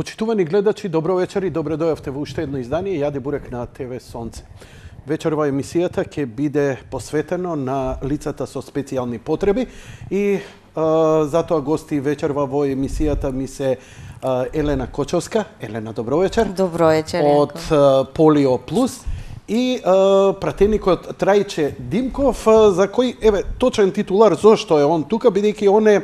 Почитувани гледачи, добро вечер и добре дојавте во уште едно издание Јаде бурек на ТВ Сонце. Вечерва емисијата ќе биде посветено на лицата со специјални потреби и затоа гости вечерва во емисијата ми се Елена Кочовска. Елена, добро вечер. Добро вечер. Од Полио Плюс и пратеникот Трајче Димков, за кој, еве, точен титулар, зошто е он тука, бидејќи он е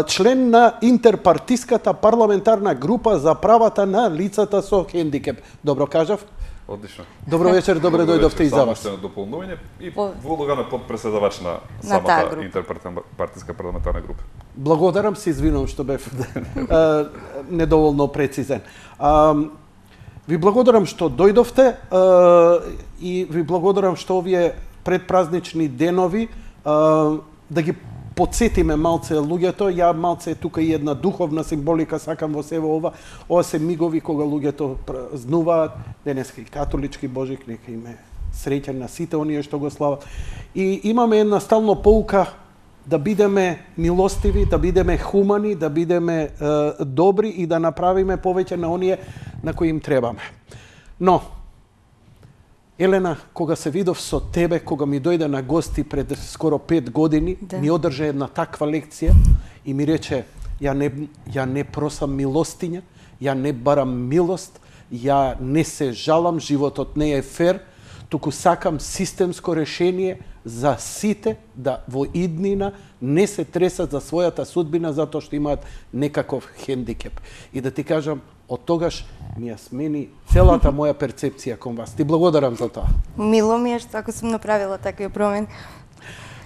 член на интерпартиската парламентарна група за правата на лицата со хендикеп. Добро кажав? Одлично. Добро вечер, добре дојдовте и за вас. Само дополнување и во улога на подпредседавач на самата интерпартиска парламентарна група. Благодарам, се извинувам што бев недоволно прецизен. Ви благодарам што дојдовте и ви благодарам што овие предпразнични денови да ги подсетиме малце луѓето. Ја малце тука и една духовна символика сакам во себе ова. Ова се мигови кога луѓето празнуваат денеска и католички Божик, нека им е среќен на сите оние што го слават. И имаме една стално поука да бидеме милостиви, да бидеме хумани, да бидеме добри и да направиме повеќе на оние на кои им требаме. Но Елена, кога се видов со тебе, кога ми дојде на гости пред скоро 5 години, ми одржа една таква лекција и ми рече, ја не просам милостиња, ја не барам милост, ја не се жалам, животот не е фер, туку сакам системско решение за сите да во иднина не се тресат за својата судбина затоа што имаат некаков хендикеп. И да ти кажам, од тогаш ми ја смени целата моја перцепција кон вас. Ти благодарам за тоа. Мило ми е што ако сум направила такви промени.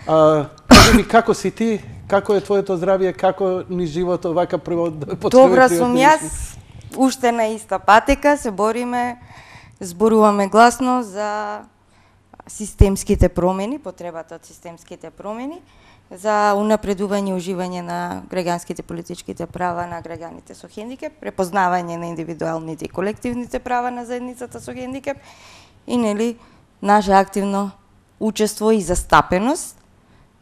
Кажи ми, како си ти? Како е твоето здравје? Како ни животот вака прво? Добра сум јас. Уште на иста патека се бориме, зборуваме гласно за системските промени, потребата од системските промени, за унапредување и уживање на граѓанските политичките права на граѓаните со хендикеп, препознавање на индивидуалните и колективните права на заедницата со хендикеп и нели наше активно учество и застапеност,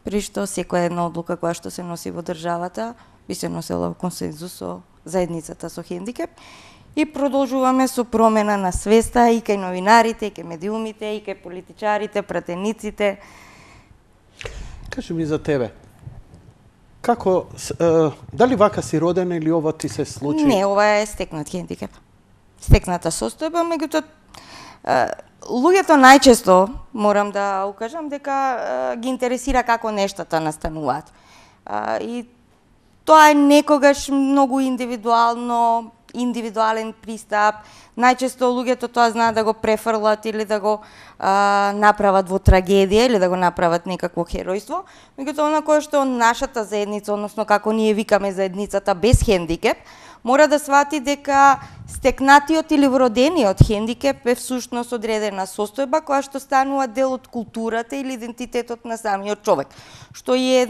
при што секоја една одлука која што се носи во државата би се носела во консензус со заедницата со хендикеп. И продолжуваме со промена на свеста и кај новинарите, и кај медиумите, и кај политичарите, пратениците. Кажи ми за тебе. Како, дали вака си родена или ова ти се случи? Не, ова е стекнат хендикеп. Стекната состојба, меѓутоа луѓето најчесто, морам да укажам, дека ги интересира како нештата настануваат. И тоа е некогаш многу индивидуален пристап. Најчесто луѓето тоа знаат да го префрлат или да го направат во трагедија или да го направат некакво херојство. Меѓутоа, она кое што нашата заедница, односно како ние викаме заедницата без хендикеп, мора да свати дека стекнатиот или вродениот хендикеп е всушност одредена состојба која што станува дел од културата или идентитетот на самиот човек, што е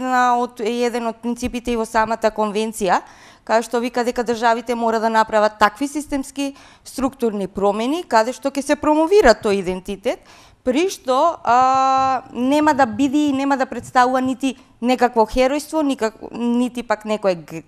еден од принципите и во самата конвенција, каде што вика дека државите мора да направат такви системски структурни промени, каде што ќе се промовира тој идентитет, при што нема да биде и нема да представува нити некакво херојство, нити пак некоја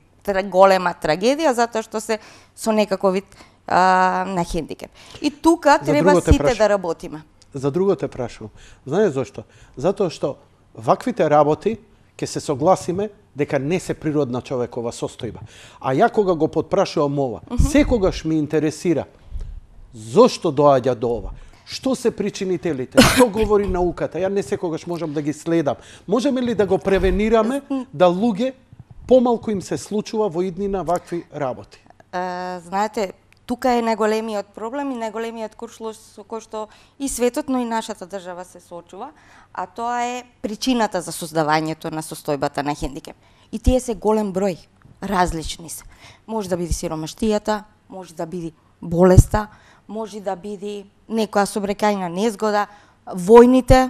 голема трагедија, затоа што се со некаков вид на хендикеп. И тука треба сите да работиме. За друго те прашувам. Знаеш зошто? Затоа што ваквите работи ќе се согласиме дека не се природна човекова состојба. А ја кога го потпрашувам ова, секогаш ми интересира зошто доаѓа до ова. Што се причинителите? Што говори науката? Ја не секогаш можам да ги следам. Можеме ли да го превенираме да луѓе помалку им се случува во иднина вакви работи? Знаете, тука е најголемиот проблем и најголемиот куршлош со кој што и светот, но и нашата држава се соочува, а тоа е причината за создавањето на состојбата на хендикеп. И тие се голем број, различни се. Може да биде сиромаштијата, може да биде болеста, може да биде некоја сообраќајна незгода, војните,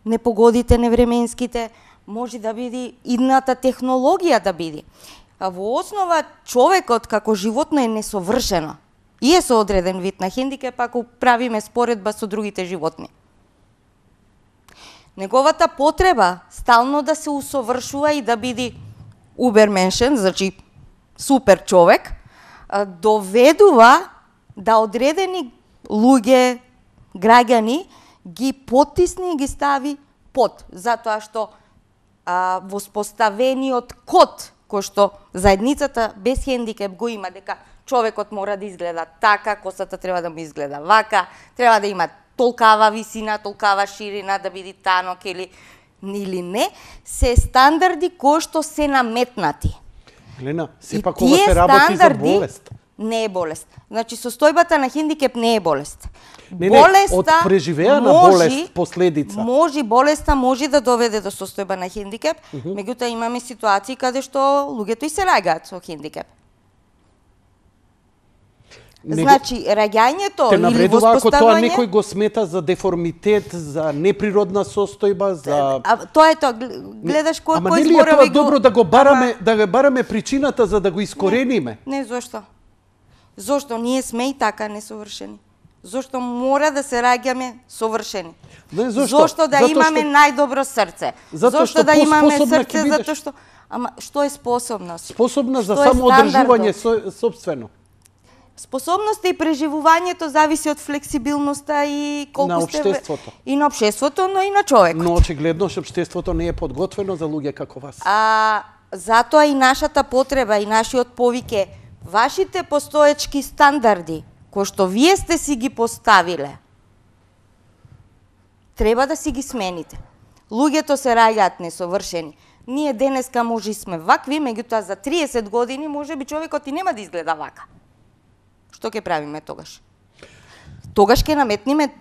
непогодите невременските, може да биде идната технологија да биде. А во основа човекот како животно е несовршено и е со одреден вид на хендикеп ако правиме споредба со другите животни. Неговата потреба стално да се усовршува и да биде уберменшен, значи супер човек, доведува да одредени луѓе, граѓани, ги потисни и ги стави под, затоа што воспоставениот код кој што заедницата без хендикеп го има, дека човекот мора да изгледа така, косата треба да му изгледа вака, треба да има толкава висина, толкава ширина, да биде танок или не, се стандарди кои што се наметнати. Глена, сепак ова се работи за болест. Не е болест. Значи, состојбата на хендикеп не е болест. Болеста од преживеана болест последица. Болеста може да доведе до состојба на хендикеп, меѓутоа имаме ситуации каде што луѓето и се раѓаат со хендикеп. Значи, раѓањето или воспоставување... Ако тоа некој го смета за деформитет, за неприродна состојба, за... Тоа е тоа, гледаш кој зборови го... Ама нели е тоа добро да го бараме причината за да го искорениме? Не, зошто? Зошто? Ние сме и така несовршени. Зошто мора да се раѓаме совршени? Зошто да имаме најдобро срце? Зошто да имаме срце? Затоа што... Ама, што е способност? Способна за самоодржување собствено. Способноста и преживувањето зависи од флексибилноста и колку на општеството. И на општеството, но и на човекот. Но очигледно што општеството не е подготвено за луѓе како вас. Затоа и нашата потреба и нашиот повик е вашите постоечки стандарди кои што вие сте си ги поставиле, треба да си ги смените. Луѓето се раѓаат несовршени. Ние денеска може и сме вакви, меѓутоа за 30 години може би човекот и нема да изгледа вака. Што ќе правиме тогаш? Тогаш ќе наметниме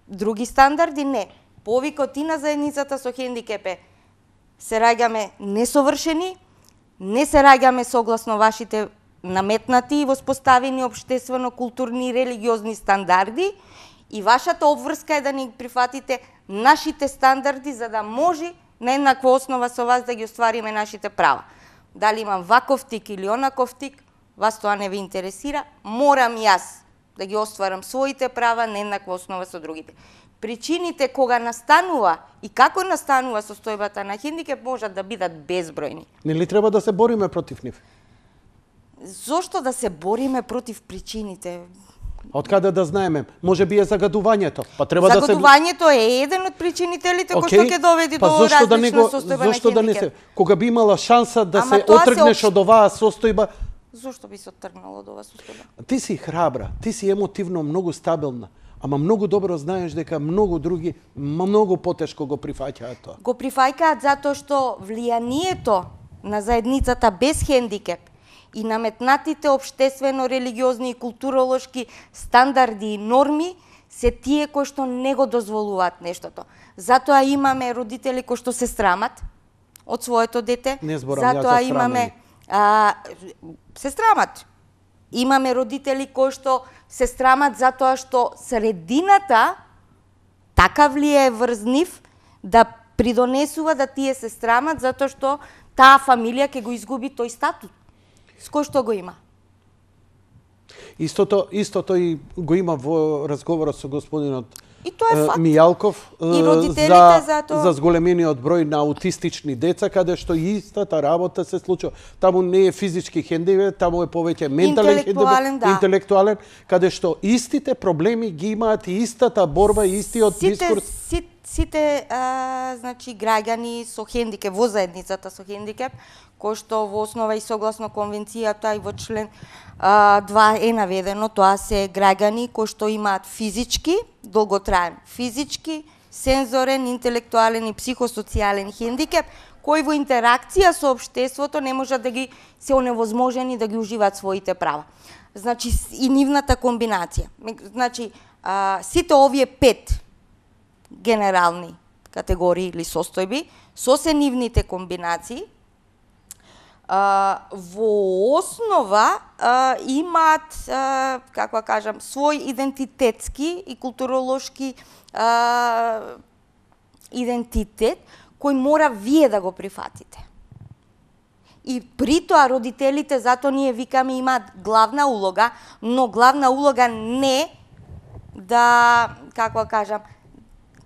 други стандарди? Не. Повикот и на заедницата со хендикеп е се раѓаме несовршени, не се раѓаме согласно вашите наметнати и воспоставени општествено-културни и религиозни стандарди и вашата обврска е да ни прифатите нашите стандарди за да може на еднаква основа со вас да ги оствариме нашите права. Дали имам ваков тик или онаков тик, вас тоа не ви интересира, морам јас да ги остварам своите права на еднаква основа со другите. Причините кога настанува и како настанува состојбата на хендикеп можат да бидат безбројни. Нели треба да се бориме против нив? Зошто да се бориме против причините? Од каде да знаеме? Може би е загадувањето. Па треба загадувањето е еден од причинителите кој што ќе доведе до различна состојба на хендикеп. Кога би имала шанса да се отргнеш од оваа состојба, зошто би се отргнала од оваа состојба? Ти си храбра, ти си емотивно многу стабилна, ама многу добро знаеш дека многу други многу потешко го прифаќаат тоа. Го прифаќаат затоа што влијанието на заедницата без хендикеп и наметнатите општествено-религиозни и културолошки стандарди и норми се тие кои што не го дозволуваат нештото. Затоа имаме родители кои што се срамат од своето дете. Не зборам затоа имаме се срамат. Имаме родители кои што се срамат затоа што средината така влијае врз нив да придонесува да тие се срамат затоа што таа фамилија ќе го изгуби тој статут. С кој што го има? Истото и го има во разговорот со господинот е Мијалков за зголемениот број на аутистични деца, каде што истата работа се случува. Таму не е физички хендикеп, таму е повеќе ментален хендикеп, интелектуален, каде што истите проблеми ги имаат и истата борба и истиот дискурс. Сите значи граѓани со хендикеп во заедницата со хендикеп, кој што во основа и согласно конвенцијата и во член 2 е наведено, тоа се граѓани кои што имаат физички, долготраен физички, сензорен, интелектуален и психосоцијален хендикеп, кои во интеракција со општеството не можат да ги се оневозможени да ги уживаат своите права. Значи и нивната комбинација. Значи сите овие 5 генерални категории или состојби со се нивните комбинации во основа имаат, како кажам, свој идентитетски и културолошки идентитет кој мора вие да го прифатите. И при тоа родителите, затоа ние викаме, имаат главна улога, но главна улога не да, како кажам,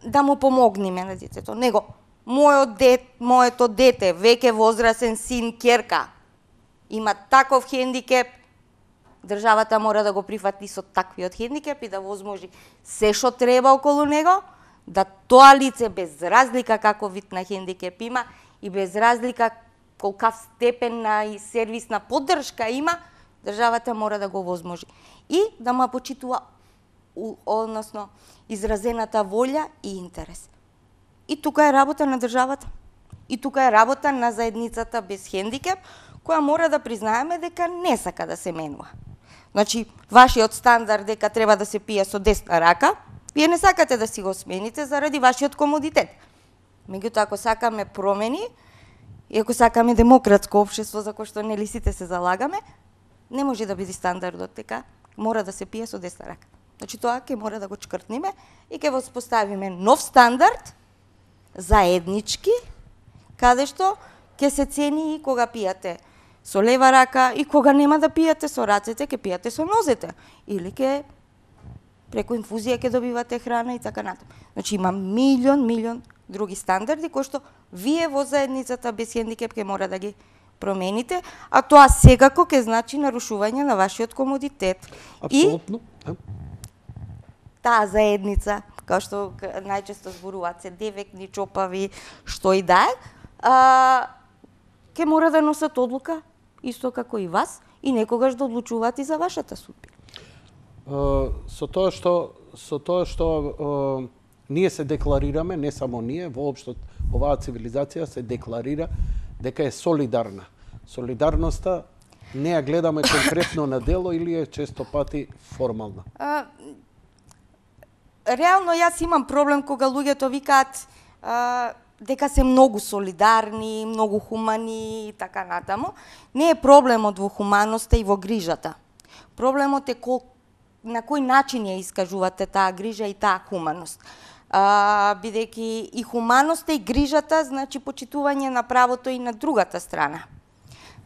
да му помогнеме на детето, него моето дете, веќе возрасен син, ќерка, има таков хендикеп, државата мора да го прифати со таквиот хендикеп и да возможи се што треба околу него, да тоа лице без разлика каков вид на хендикеп има и без разлика колкав степен на и сервисна поддршка има, државата мора да го возможи. И да му почитува односно изразената волја и интерес. И тука е работа на државата. И тука е работа на заедницата без хендикеп, која мора да признаеме дека не сака да се менува. Значи, вашиот стандард дека треба да се пие со десна рака, вие не сакате да си го смените заради вашиот комодитет. Меѓутоа, ако сакаме промени, и ако сакаме демократско општество за кое што нели сите се залагаме, не може да биде стандардот дека мора да се пие со десна рака. Значи, тоа ќе мора да го чкртниме и ќе воспоставиме нов стандард, заеднички, каде што ќе се цени и кога пијате со лева рака и кога нема да пијате со рацете, ќе пијате со нозете. Или ќе преку инфузија ќе добивате храна и така натаму. Значи има милион други стандарди кои што вие во заедницата без хендикеп ќе мора да ги промените, а тоа секако ќе значи нарушување на вашиот комодитет. Апсолутно. И таа заедница, као што најчесто зборуваат се девекни, чопави, што и да е, ќе мора да носат одлука, исто како и вас, и некогаш да одлучуваат и за вашата судбина. Со тоа што ние се декларираме, не само ние, воопшто оваа цивилизација се декларира дека е солидарна. Солидарноста не ја гледаме конкретно на дело или е често пати формална? Реално јас имам проблем кога луѓето викаат дека се многу солидарни, многу хумани и така натаму. Не е проблемот во хуманоста и во грижата. Проблемот е на кој начин ја искажувате таа грижа и таа хуманост. Бидејќи и хуманоста и грижата значи почитување на правото и на другата страна.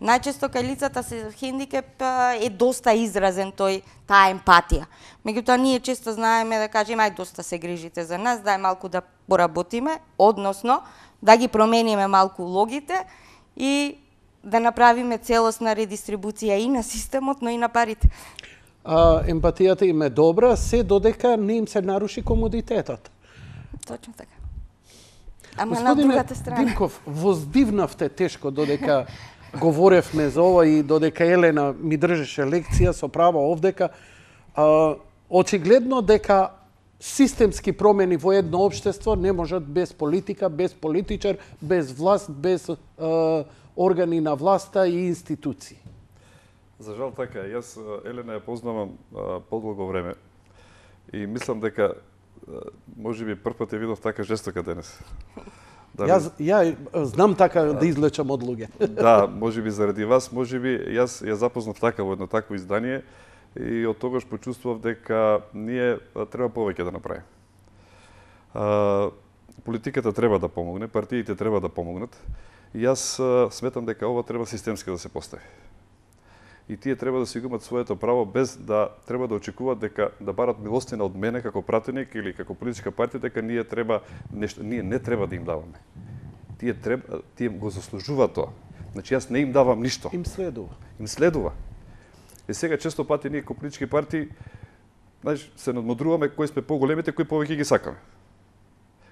Најчесто кај лицата со хендикеп е доста изразен таа емпатија. Меѓутоа ние често знаеме да кажеме ај доста се грижите за нас, дај малку да поработиме, односно да ги промениме малку улогите и да направиме целосна редистрибуција и на системот, но и на парите. Емпатијата им е добра, се додека не им се наруши комодитетот. Точно така. Ама на другата страна. Господине Димков, воздивнавте тешко додека говоревме за ова и додека Елена ми држеше лекција со право овдека. Очигледно дека системски промени во едно општество не можат без политика, без политичар, без власт, без органи на власта и институции. За жал така, јас Елена ја познавам подолго време и мислам дека можеби прв пат ја видов така жестока денес. Ја знам така да излечам од луѓе. Да, можеби заради вас, можеби јас ја запознав така во едно такво издание и од тогаш почувствував дека ние треба повеќе да направиме. Политиката треба да помогне, партиите треба да помогнат и јас сметам дека ова треба системски да се постави. И тие треба да си го имат своето право без да треба да очекуваат дека да барат милостина од мене како пратеник или како политичка партија дека ние треба нешто, ние не треба да им даваме. Тие го заслужуваат тоа. Значи јас не им давам ништо. Им следува. Им следува. И сега често пати ние како политички партии се надмудруваме кои сме поголемите, кои повеќе ги сакаме.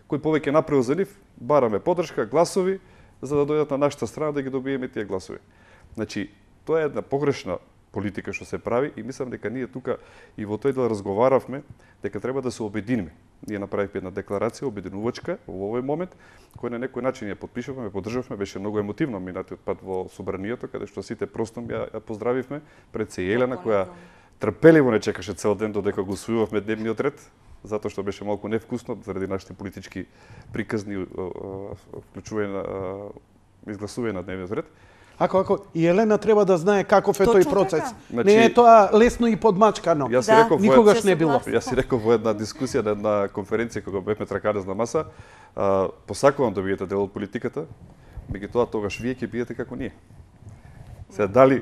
Кој повеќе направил за нив, бараме поддршка, гласови за да дојдат на нашата страна да ги добиеме тие гласови. Значи тоа е една погрешна политика што се прави и мислам дека ние тука и во тој дел разговаравме дека треба да се обединиме. Ние направивме една декларација обединувачка во овој момент, која на некој начин ја подпишавме, ја поддржавме, беше многу емотивно минатиот пат во собранието каде што сите простом ја поздравивме пред се Елена која трпеливо не чекаше цел ден додека го усвојувавме дневниот ред, затоа што беше малку невкусно заради нашите политички приказни вклучување на изгласување на дневниот ред. Ако и Елена треба да знае каков е тој процес. Значи, не е тоа лесно и подмачкано. Никогаш не било. Јас си реков во една дискусија на една конференција кога бевме тракарез на маса, посакувам да бидете дел од политиката, меѓутоа тогаш вие ќе бидете како ние. Се дали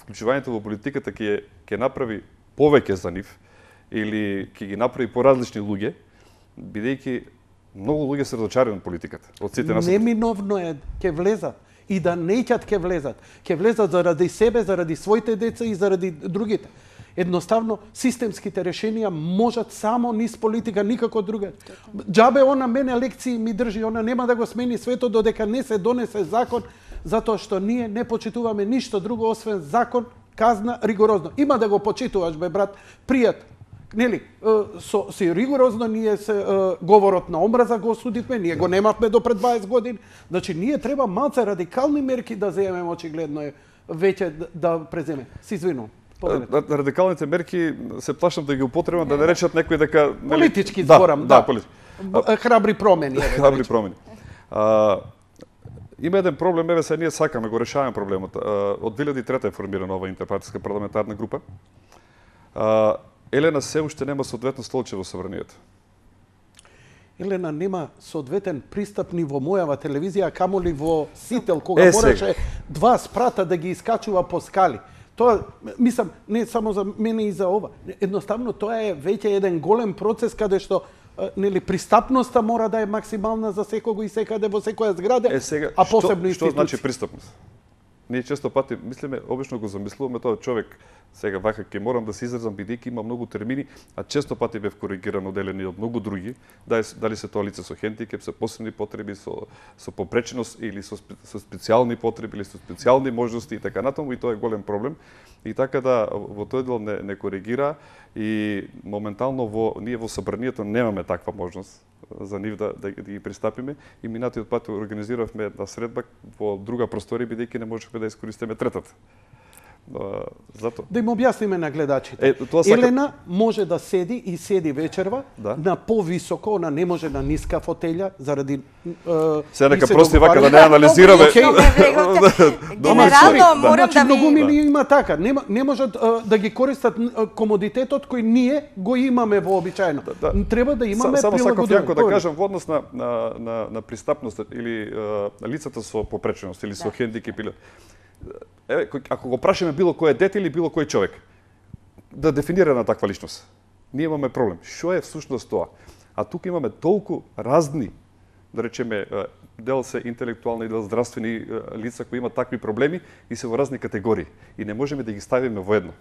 вклучувањето во политиката ќе направи повеќе за нив или ќе ги направи поразлични луѓе, бидејќи многу луѓе се разочарани од политиката. Од сите нас. Неминовно е ќе влезат. и да неќат ке влезат. Ке влезат заради себе, заради своите деца и заради другите. Едноставно, системските решенија можат само низ политика, никако друга. Џабе она мене лекции ми држи, она нема да го смени светот додека не се донесе закон, затоа што ние не почитуваме ништо друго освен закон, казна, ригорозно. Има да го почитуваш, бе, брат, пријат. Нели, си ригорозно ние се говорот на омраза го осудивме, ние го немавме до пред 20 години. Значи, ние треба малце радикални мерки да земеме, очигледно е веќе да преземе. Се извинувам. Радикалните мерки се плашам да ги употребам, да не речат некој дека... Политички зборам, да. Храбри промени. Храбри промени. Има еден проблем, еве се ние сакаме, го решаваме проблемот. Од 2003 е формирана ова интерпартиска парламентарна група. Елена се уште нема соодветно столче во Собранието. Елена нема соодветен пристап ни во мојава телевизија, камоли во Сител, кога мораше 2 спрата да ги искачува по скали. Тоа, мислам, не само за мене и за ова. Едноставно, тоа е веќе еден голем процес каде што нели пристапноста мора да е максимална за секого и секаде во секоја зграда, а посебно што значи пристапност? Ние често пати мислиме, обично го замислуваме тоа човек, сега вака ќе морам да се изразам бидејќи има многу термини, а често пати бев коригиран оделени од многу други, дали се тоа лице со хендикеп, со посебни потреби, со попреченост или со специјални потреби или со специјални можности и така натаму, и тоа е голем проблем. И така да во тој дел не коригира и моментално ние во Собранието немаме таква можност за нив да ги пристапиме и минатиот пат организиравме една средба во друга просторија бидејќи не можевме да искористиме третата. Зато. Да им објасниме на гледачите. Елена може да седи и седи вечерва на повисоко, она не може на ниска фотелја заради Се нека прости вака да не анализираме. Генерално морам да многу мили има така, не можат да ги користат комодитетот кој ние го имаме вообичаено. Треба да имаме само сакав јако да кажам во однос на пристапност или лицата со попреченост или со хендикеп или еве, ако го прашаме било кој е дете или било кој човек, да дефинира на таква личност, ние имаме проблем. Што е всушност тоа? А тука имаме толку разни, да речеме, дел се интелектуални, дел здравствени лица кои имат такви проблеми и се во разни категории. И не можеме да ги ставиме во едно.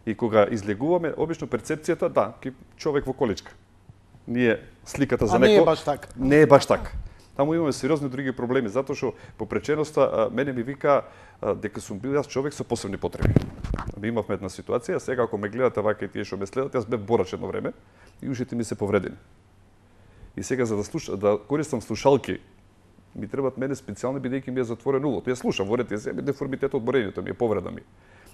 И кога излегуваме, обично перцепцијата, да, човек во количка. Ние сликата за некој... не е баш така. Не е баш така. Таму имаме сериозни други проблеми, затоа што попреченоста мене ми вика дека сум бил јас човек со посебни потреби. Ми имавме една ситуација, сега ако ме гледате вака и тие што ме следат, јас бев борач едно време и ушите ми се повредени. И сега за да користам слушалки, ми требаат мене специјални бидејќи ми е затворен улот. Јас слушам, во ред е деформитет од борењето ми, е повреда ми.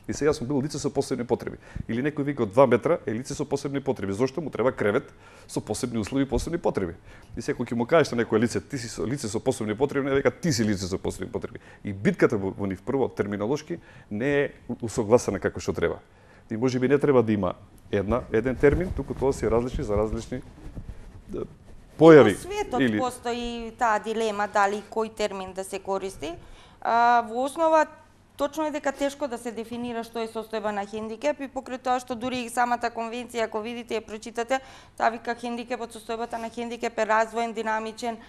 И сега сум бил лице со посебни потреби. Или некој вика од 2 метра е лице со посебни потреби. Зошто му треба кревет со посебни услови и посебни потреби? И сега кога ќе му кажеш на некој лице, ти си лице со посебни потреби, не века ти си лице со посебни потреби. И битката во нив прво терминолошки не е усогласена како што треба. И можеби не треба да има еден термин, туку тоа се различни за различни појави. Во светот постои таа дилема дали кој термин да се користи. Во основа точно е дека тешко да се дефинира што е состојба на хендикеп и покрај тоа што дури и самата конвенција, ако видите и прочитате, таа вика хендикепот, состојбата на хендикеп е развоен, динамичен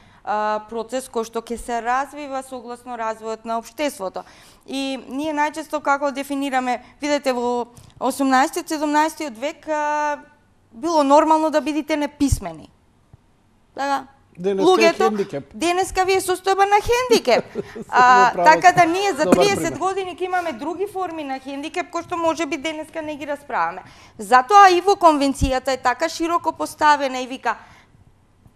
процес кој што ќе се развива согласно развојот на општеството. И ние најчесто како дефинираме, видите во 18-17 век било нормално да бидите неписмени. Така, луѓето, денеска ви е состојба на хендикеп. Така да ние за 30 години ќе имаме други форми на хендикеп кои што можеби денеска не ги расправаме. Затоа и во конвенцијата е така широко поставена и вика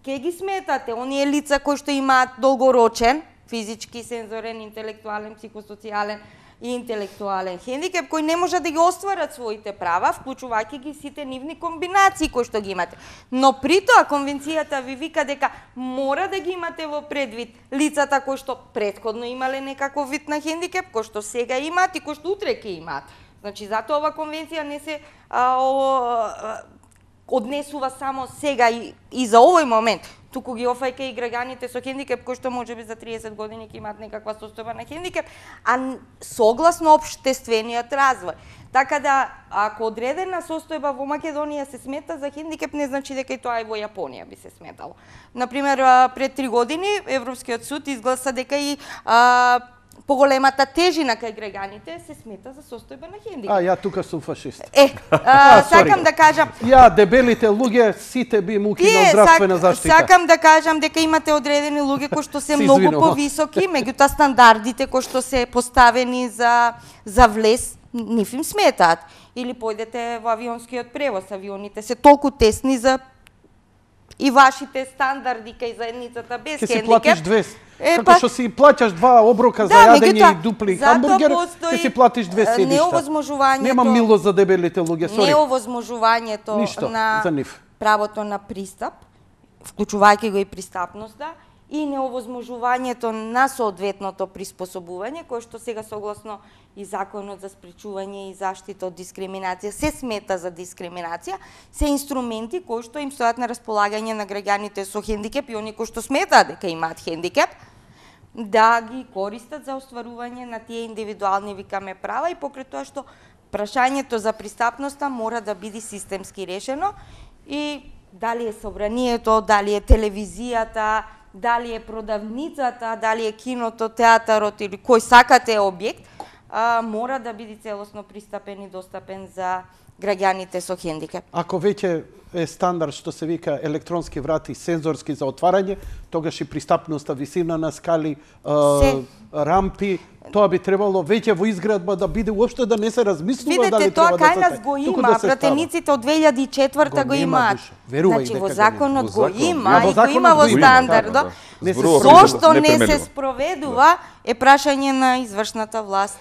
ке ги сметате оние лица кои што имаат долгорочен физички, сензорен, интелектуален, психосоцијален и интелектуален хендикеп кои не можат да ги остварат своите права, вклучувајќи ги сите нивни комбинации кои што ги имате. Но при тоа конвенцијата ви вика дека мора да ги имате во предвид лицата кои што претходно имале некаков вид на хендикеп, кои што сега имаат и кои што утре ќе имаат. Значи затоа ова конвенција не се однесува само сега и за овој момент. туку ги офајка и граѓаните со хендикеп кои што можеби за 30 години ќе имаат некаква состојба на хендикеп, а согласно општествениот развој. Така да, ако одредена состојба во Македонија се смета за хендикеп, не значи дека и тоа и во Јапонија би се сметало. Например, пред 3 години Европскиот суд изгласа дека и поголемата тежина кај граѓаните се смета за состојба на хендикеп. Ја тука сум фашист. Сакам да кажам... дебелите луѓе, сите би му кинал здравствена заштита. Сакам да кажам дека имате одредени луѓе кои што се многу повисоки, меѓутоа стандардите кои што се поставени за влез, нив им сметаат. Или појдете во авионскиот превоз, авионите се толку тесни за и вашите стандарди кај заедницата без хендикеп. Ке си платиш 200. Како што си плаќаш 2 оброка за јадење и дупли хамбургер, ке си платиш 2 седишта. Нема милост за дебелите луѓе, сори. Неовозможувањето на правото на пристап, вклучувајќи го и пристапноста, и неовозможувањето на соодветното приспособување, кое што сега согласно и Законот за спречување и заштита од дискриминација се смета за дискриминација, се инструменти кои што им стојат на располагање на граѓаните со хендикеп и оние кои што сметаат дека имаат хендикеп, да ги користат за остварување на тие индивидуални, викаме, права, и покрај тоа што прашањето за пристапноста мора да биде системски решено, и дали е собранието, дали е телевизијата, дали е продавницата, дали е киното, театарот или кој сакате објект, мора да биде целосно пристапен и достапен за граѓаните со хендикеп. Ако веќе е стандард што се вика електронски врати сензорски за отварање, тогаш и пристапноста, висина на скали, рампи, тоа би требало веќе во изградба да биде, уопште да не се размислува дали треба да се... Видете, тоа кај нас го има, пратениците од 2004 го имаат. Значи, во законот го има, и го има во стандардот. Зошто не се спроведува е прашање на извршната власт.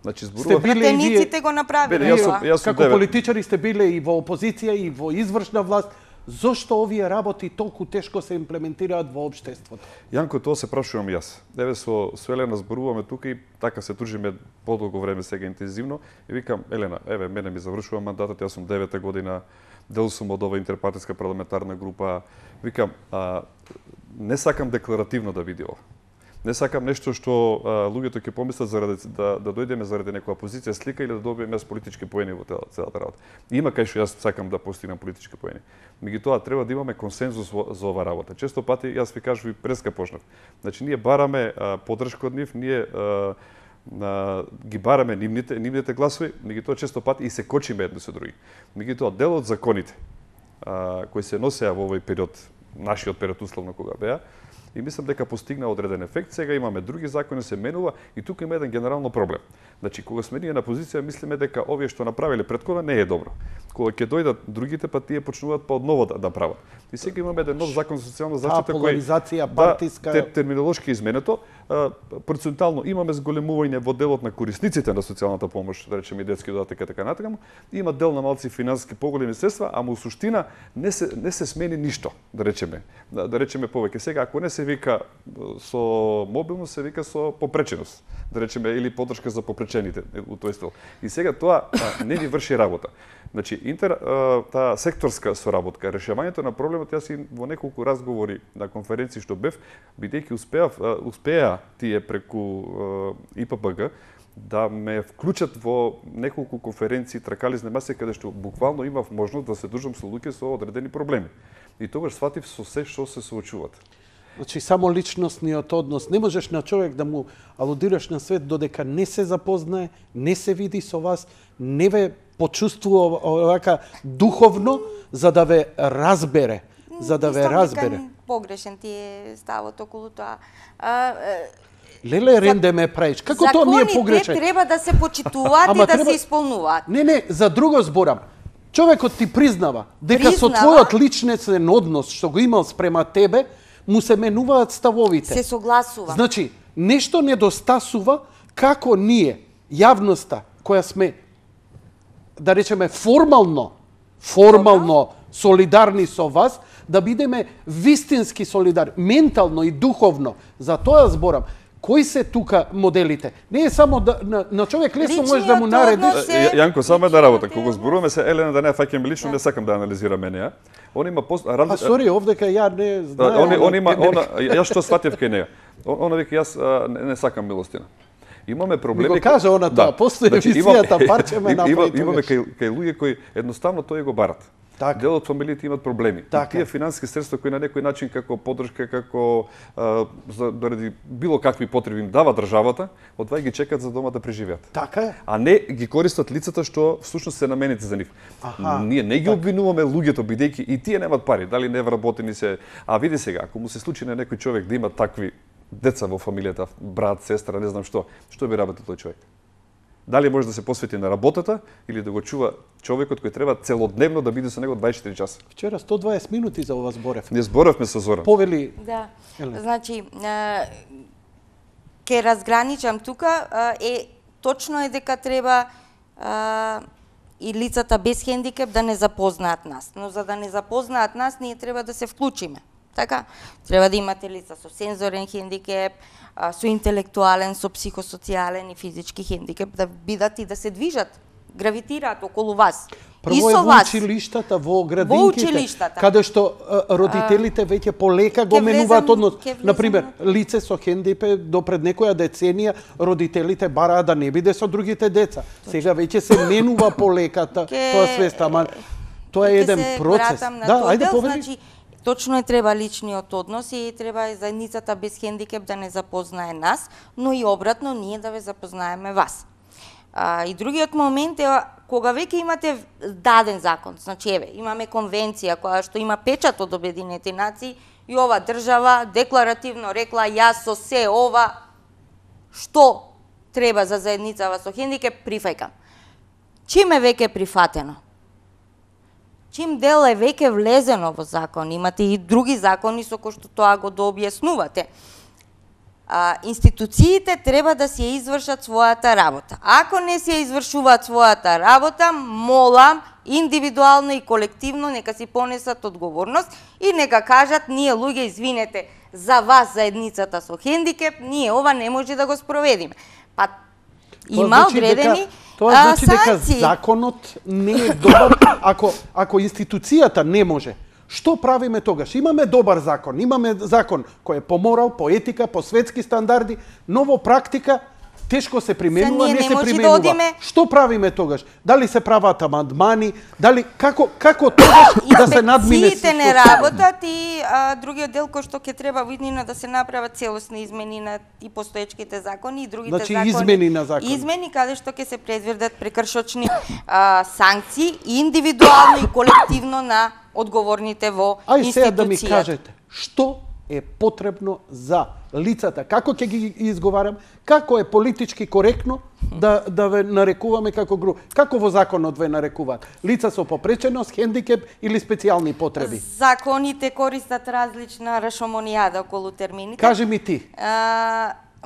Значи, зборува... Пратениците го направиле. Како политичари сте биле и во опозиција и во извршна власт, зошто овие работи толку тешко се имплементираат во општеството? Јанко, тоа се прашувам јас. Еве со Елена зборуваме тука и така се дружиме подолго време сега интензивно и викам, Елена, еве мене ми завршува мандатот, јас сум 9-та година, дел сум од оваа интерпартиска парламентарна група. Викам, не сакам декларативно да биде ова. Не сакам нешто што луѓето ќе помислат заради да дојдеме заради некоја позиција слика или да добиеме политички поени во целата работа. Има кај што јас сакам да постигнам политички поени. Меѓутоа треба да имаме консензус за ова работа. Често пати јас ви кажав и преска почнав. Значи ние бараме поддршка од нив, ние ги бараме нивните гласови, меѓутоа често пати и се кочиме едни со други. Меѓутоа дел од законите кои се носеа во овој период, нашиот период условно кога беа, и мислам дека постигна одреден ефект. Сега имаме други закони, се менува и тука има еден генерално проблем. Значи, кога сме ние на позиција, мислиме дека овие што направиле преткова не е добро. Кога ќе дојдат другите, па тие почнуваат па одново да прават. И сега имаме еден нов закон за социјална заштита поларизација партиска, терминолошки изменето. Процентуално имаме зголемување во делот на корисниците на социјалната помош, да речеме и детски додаток и така натаму. Има дел на малци финансиски поголеми средства, ама у суштина не се смени ништо, да речеме. Да речеме повеќе. Сега ако не се вика со мобилност, се вика со попреченост, да речеме, или поддршка за попречените у тој стил. И сега тоа не ни врши работа. Значи, таа секторска соработка, решавањето на проблемот, јас и во неколку разговори на конференции што бев, бидејќи успеа тие преку ИППГ да ме вклучат во неколку конференции тракализни маси, каде што буквално имав можност да се дружам со луѓе со одредени проблеми. И тогаш сватив со се што се соочуваат. Значи, само личностниот однос. Не можеш на човек да му алудираш на свет додека не се запознае, не се види со вас, не ве почувствува овака духовно, за да ве разбере. Погрешен ти е ставот околу тоа. Леле, ренде ме правиш. Како тоа ми е погрешен? Законите треба да се почитуваат и да се исполнуваат. Не, за друго зборам. Човекот ти признава дека со твојот личностен однос што го имал спрема тебе, му се менуваат ставовите. Се согласува. Значи, нешто недостасува како ние, јавноста, која сме, да речеме, формално солидарни со вас, да бидеме вистински солидарни, ментално и духовно. За тоа зборам. Кои се тука моделите? Не е само на човек лесно може да му нареди. Јанко, само една работа. Кога зборуваме се Елена да не фаќаме лично, не сакам да анализираме неа. Он има сори, овдека ја не знаем. Он има јас што сватев кај неа. Она вика јас не сакам милостина. Имаме проблеми. Ми го кажа она тоа, после емисијата парче ме направи. Имаме кај луѓе кои едноставно тој го барат. Дел од фамилиите имат проблеми. Тие финансиски средства кои на некој начин како поддршка, како заради било какви потреби им дава државата, од тоа ги чекат за дома да преживеат. Така е. А не ги користат лицата што всушност се наменети за нив. Ние не ги обвинуваме луѓето бидејќи и тие немаат пари, дали не вработени се. А види сега, ако му се случи на некој човек да има такви деца во фамилијата, брат, сестра, не знам што би работил тој човек? Дали може да се посвети на работата или да го чува човекот кој треба целодневно да биде со него 24 часа? Вчера 120 минути за ова зборев. Не зборавме со Зоран. Повели. Да. Значи, ке разграничам тука, точно е дека треба и лицата без хендикеп да не запознаат нас. Но за да не запознаат нас, ние треба да се вклучиме. Така, треба да имате лица со сензорен хендикеп, со интелектуален, со психосоцијален и физички хендикеп, да бидат и да се движат, гравитираат околу вас. Прво е во училиштата, во градинките, каде што родителите веќе полека го менуваат однос. Например, лице со хендикеп до пред некоја деценија родителите бараа да не биде со другите деца. Сега веќе се менува полека тоа свеста, ама тоа е еден процес. Да, ајде повели. Точно е треба личниот однос и треба заедницата без хендикеп да не запознае нас, но и обратно ние да ве запознаеме вас. И другиот момент е кога веќе имате даден закон, значи еве, имаме конвенција која што има печат од Обединените нации и ова држава декларативно рекла јас со се ова што треба за заедницава со хендикеп прифаќам. Чим е веќе прифатено? Чим дел е веќе влезено во закон, имате и други закони со кои што тоа го дообјаснувате. Институциите треба да си извршат својата работа. Ако не си извршуваат својата работа, молам, индивидуално и колективно нека си понесат одговорност и нека кажат ние луѓе извинете за вас заедницата со хендикеп, ние ова не може да го спроведиме. Па има одредени тоа значи дека законот не е добар ако институцијата не може. Што правиме тогаш? Имаме добар закон, имаме закон кој е по морал, по етика, по светски стандарди, но во практика тешко се применува, не се применува. Што правиме тогаш? Дали се прават амандмани, дали како тогаш да се надмине? Институциите не работат и другиот дел кој што ќе треба виднина да се направат целосни измени на и постоечките закони и другите закони. Измени на закони. Измени каде што ќе се предвидат прекршочни санкции индивидуално и колективно на одговорните во институцијата. Ај сега да ми кажете, што е потребно за лицата, како ќе ги изговарам, како е политички коректно да ве нарекуваме како група. Како во законот ве нарекуваат? Лица со попреченост, хендикеп или специјални потреби? Законите користат различна рашомонијада околу термините. Кажи ми ти.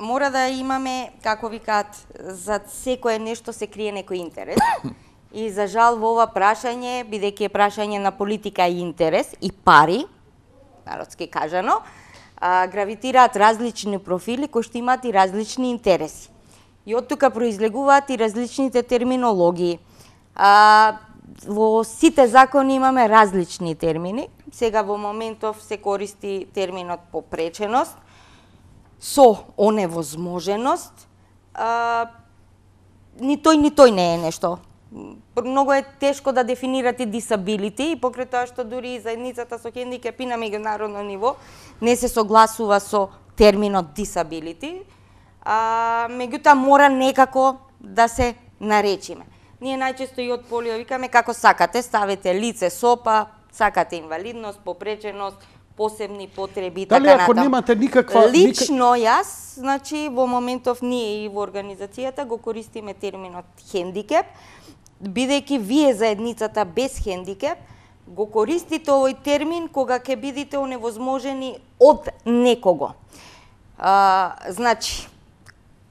Мора да имаме, како викаат, за секое нешто се крие некој интерес. И за жал во ова прашање, бидејќи е прашање на политика и интерес и пари, народски кажано, гравитираат различни профили кои што имаат и различни интереси. И од тука произлегуваат и различните терминологии. Во сите закони имаме различни термини. Сега во моментов се користи терминот попреченост, со оневозможеност. Ни тој не е нешто. Многу е тешко да дефинирате disability и покрај тоа што дури и заедницата со хендикеп и на меѓународно ниво не се согласува со терминот disability, меѓутоа мора некако да се наречиме. Ние најчесто и од полио викаме како сакате, ставете лице СОПа, сакате инвалидност, попреченост, посебни потреби и така натаму. Дали ако немате никаква... Лично јас, значи во моментов ние и во организацијата го користиме терминот хендикеп, бидејќи вие заедницата без хендикеп го користите овој термин кога ќе бидете оневозможени од некого. Значи,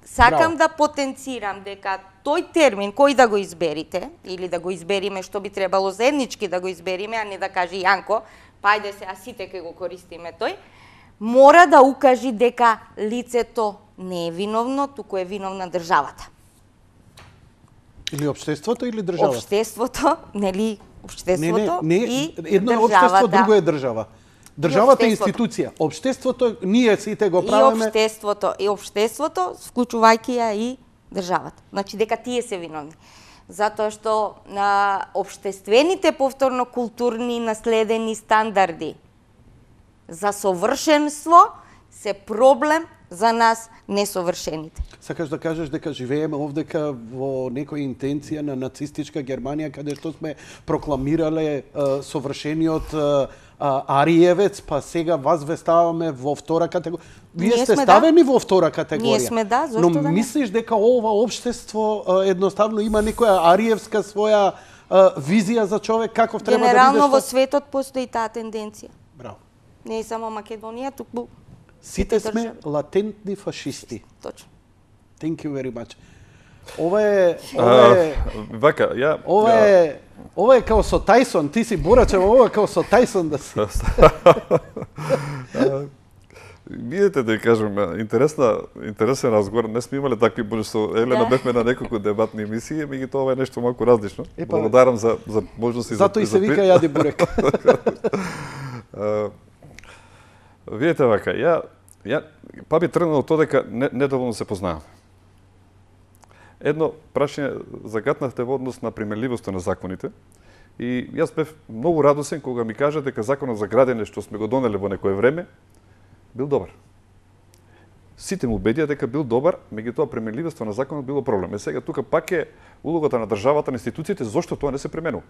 сакам да потенцирам дека тој термин кој да го изберите, или да го избериме што би требало заеднички да го избериме, а не да каже Јанко, па ајде се, а сите ќе го користиме тој, мора да укажи дека лицето не е виновно, туку е виновна државата. Или општеството или државата? Општеството, нели, општеството и едно е државата. општество, друго е држава. Државата е институција, општеството ние сите го правиме. И општеството, вклучувајќи ја и државата. Значи дека тие се виновни. Затоа што општествените повторно културни наследени стандарди за совршенство се проблем за нас несовршените. Сакаш да кажеш дека живееме овдека во некоја интенција на нацистичка Германија, каде што сме прокламирале совршениот Ариевец, па сега вас ве ставаме во втора категорија. Вие сте ставени во втора категорија. Ние сме зошто да не? Но мислиш дека ова општество едноставно има некоја ариевска своја визија за човек каков треба да биде? Генерално во светот постои таа тенденција. Браво. Не е само Македонија, туку сите сме латентни фашисти. Точно. Thank you very much. Ова е ова е као со Тајсон, ти си Борачев, ова е као со Тајсон да си. Видете да кажам, интересен разговор. Не сме имале такви, може со Елена бевме на неколку дебатни емисии, меѓутоа ова е нешто малку различно. Благодарам за можности. Зато и се вика јади бурек. Видете вака, па би тргнал од тоа дека недоволно се познаваме. Едно прашање загатнавте во однос на примеливоста на законите и јас бев многу радосен кога ми кажа дека законот за градење што сме го донеле во некое време бил добар. Сите му убедија дека бил добар, меѓутоа примеливоста на законот било проблем. Сега тука пак е улогата на државата, на институциите, зошто тоа не се применува.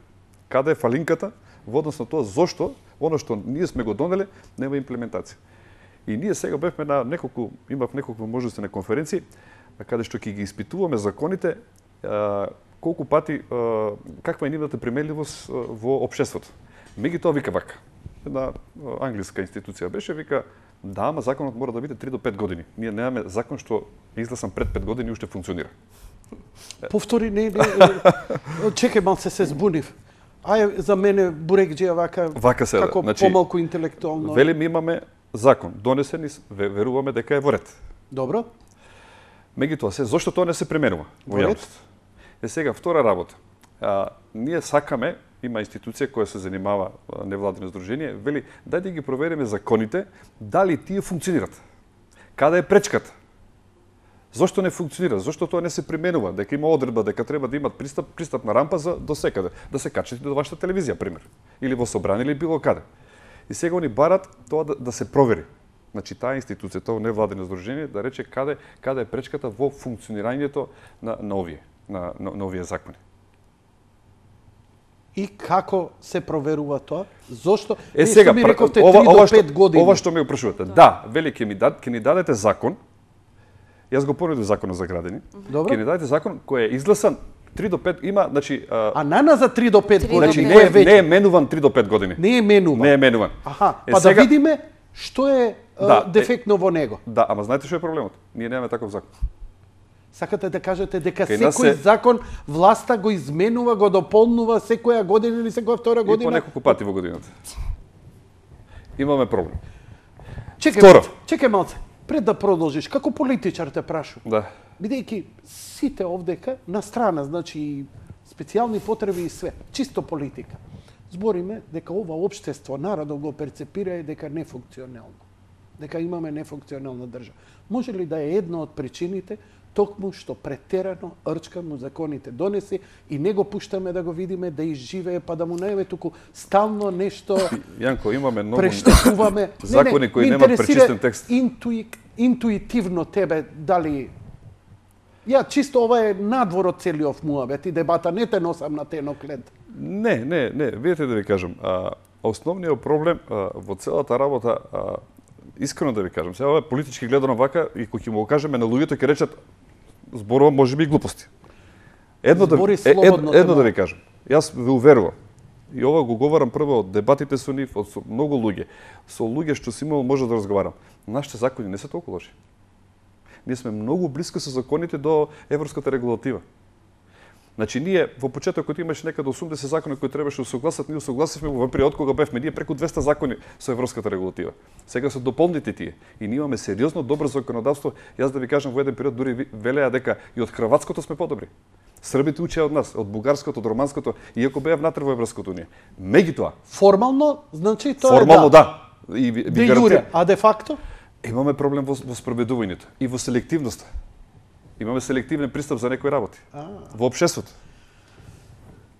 Каде е фалинката во однос на тоа зошто оно што ние сме го донеле нема имплементација. И ние сега бевме на имав неколку можности на конференции каде што ќе ги испитуваме законите колку пати каква е нивната примеливост во општеството. Меѓутоа вика вака. Една англиска институција беше, вика, да, ама законот мора да биде 3 до 5 години. Ние немаме закон што е изгласан пред 5 години и уште функционира. Повтори, не. Чекај, малце се збунив. Ај, за мене бурекџија вака се, како значи, помалку интелектуално. Велим имаме закон, донесен и веруваме дека е во ред. Добро. Меѓутоа, зошто тоа не се применува во јавност? Сега, втора работа. Ние сакаме, има институција која се занимава невладино здружение, вели, дај да ги провериме законите, дали тие функционират. Каде е пречката? Зошто не функционира? Зошто тоа не се применува? Дека има одредба дека треба да имат пристапна рампа за до секаде, да се качите до вашата телевизија, пример, или во собрание или било каде. И сега они барат тоа да се провери. Значи таа институција, тоа невладино здружение да рече каде е пречката во функционирањето на овие закони. И како се проверува тоа? Зошто? Сега, ми рековте 3 до 5 години. Ова што ме упрашувате. Да, вели ќе ни дадете закон. Јас го понудив законот за градени. Ќе ни дадете закон кој е изгласан 3 до 5 има, значи нана за 3 до 5 години. Значи не е менуван 3 до 5 години. Не е менуван. Аха, па да видиме што е дефектно во него. Да, ама знаете што е проблемот? Ние немаме таков закон. Сакате да кажете дека секој закон власта го изменува, го дополнува секоја година или секоја втора година? И по неколку пати во годината. Имаме проблем. Чекај малце. Пред да продолжиш, како политичар те прашувам. Да. Бидејќи сите овдека на страна, значи специјални потреби и све, чисто политика. Збориме дека ова општество, народот го перцепира и дека не функционално. Дека имаме нефункционална држава. Може ли да е една од причините токму што претерано рчкамо законите донеси и не го пуштаме да го видиме, да изживее, па да му најаве туку стално нешто Јанко, имаме многу прештекуваме. закони кои немаат пречистен текст. Интуитивно тебе дали ја чисто ова е надвор од целиот муабет и дебата, не те носам на тенок лед. Не, видете да ви кажам, основниот проблем во целата работа, искрено да ви кажам, сега ова е политички гледано вака и кога ќе му го кажеме на луѓето ќе речат зборува можеби и глупости. Едно да ви кажам. Јас ве уверувам. И ова го говорам прво од дебатите со нив, од многу луѓе. Со луѓе што си имал може да разговарам. Нашите закони не се толку лоши. Ние сме многу блиско со законите до европската регулатива. Значи, ние во почетокот имаше некаде 80 закони кои требаше да согласат, ние согласивме во период кога бевме ние преку 200 закони со европската регулатива. Сега се дополнити тие и ние имаме сериозно добро законодавство. Јас да ви кажам, во еден период дури велеа дека и од хрватското сме подобри. Србите учеа од нас, од бугарското, од романското, иако беа внатре во Европската унија. Меѓутоа, Формално, значи тоа формално е да. И Де јуре, а де факто? Имаме проблем во спроведувањето и во селективноста. Имаме селективен пристап за некои работи. Во општеството.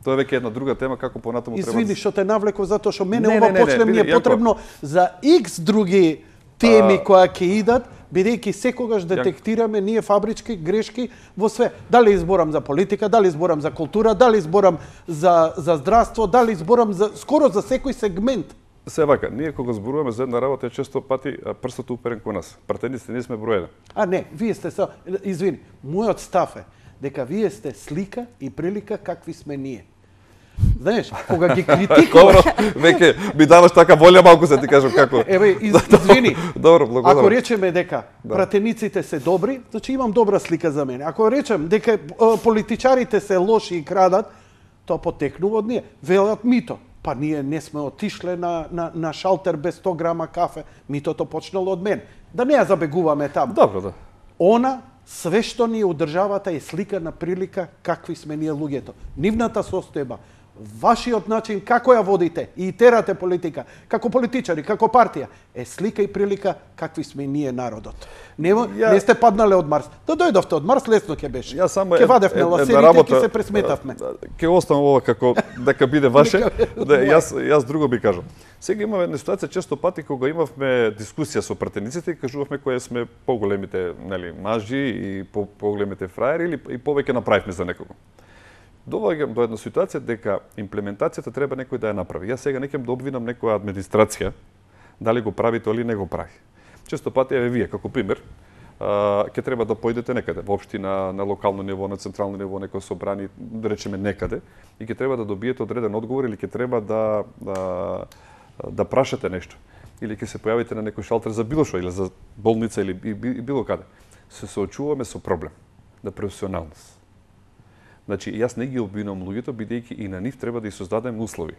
Тоа е веќе една друга тема како понатаму треба. Извини што те навлеков затоа што мене ова почне ми е потребно за X други теми кои ќе идат, бидејќи секогаш детектираме ние фабрички грешки во све. Дали изборам за политика, дали изборам за култура, дали изборам за здравство, дали изборам за скоро за секој сегмент. Се вака, ние кога зборуваме за една работа, често пати прстот уперен кон нас. Пратениците ние сме број 1. Не, вие сте извини, мојот став е дека вие сте слика и прилика какви сме ние. Знаеш, кога ги критикуваш... Веќе ми даваш така волја малку се ти кажам како... Еве, извини. Добро, благодарам. Ако речеме дека пратениците се добри, значи имам добра слика за мене. Ако речем дека политичарите се лоши и крадат, тоа потекнува од ние. Велат мито. Па ние не сме отишле на шалтер без 100 грама кафе. Митото почнало од мен. Да не ја забегуваме таму. Добро, да. Она, све што ни од државата е слика на прилика какви сме ние луѓето. Нивната состојба, вашиот начин како ја водите и терате политика, како политичари, како партија, е слика и прилика какви сме ние народот. Не сте паднале од Марс. Да дојдовте од Марс, лесно ќе беше. Ќе вадевме ласерите, ќе се пресметавме. Ќе оставам ова како дека биде ваше. Јас друго би кажам. Сега имаме една ситуација често пати кога имавме дискусија со пратениците и кажувавме кои сме поголемите, нели, мажи и поголемите фраери или и повеќе направивме за некого. Доваѓам до една ситуација дека имплементацијата треба некој да ја направи. Јас сега не ќе да обвинам некоја администрација дали го прави тоа или не го прави. Често пати еве вие како пример ќе треба да поидете некаде, во општина, на локално ниво, на централно ниво, некој собрани, да речеме некаде, и ќе треба да добиете одреден одговор или ќе треба да прашате нешто. Или ќе се појавите на некој шалтер за било што, или за болница, или било каде. Се соочуваме со проблем на професионалност. Значи, јас не ги обвинувам луѓето, бидејќи и на нив треба да ја создадеме услови.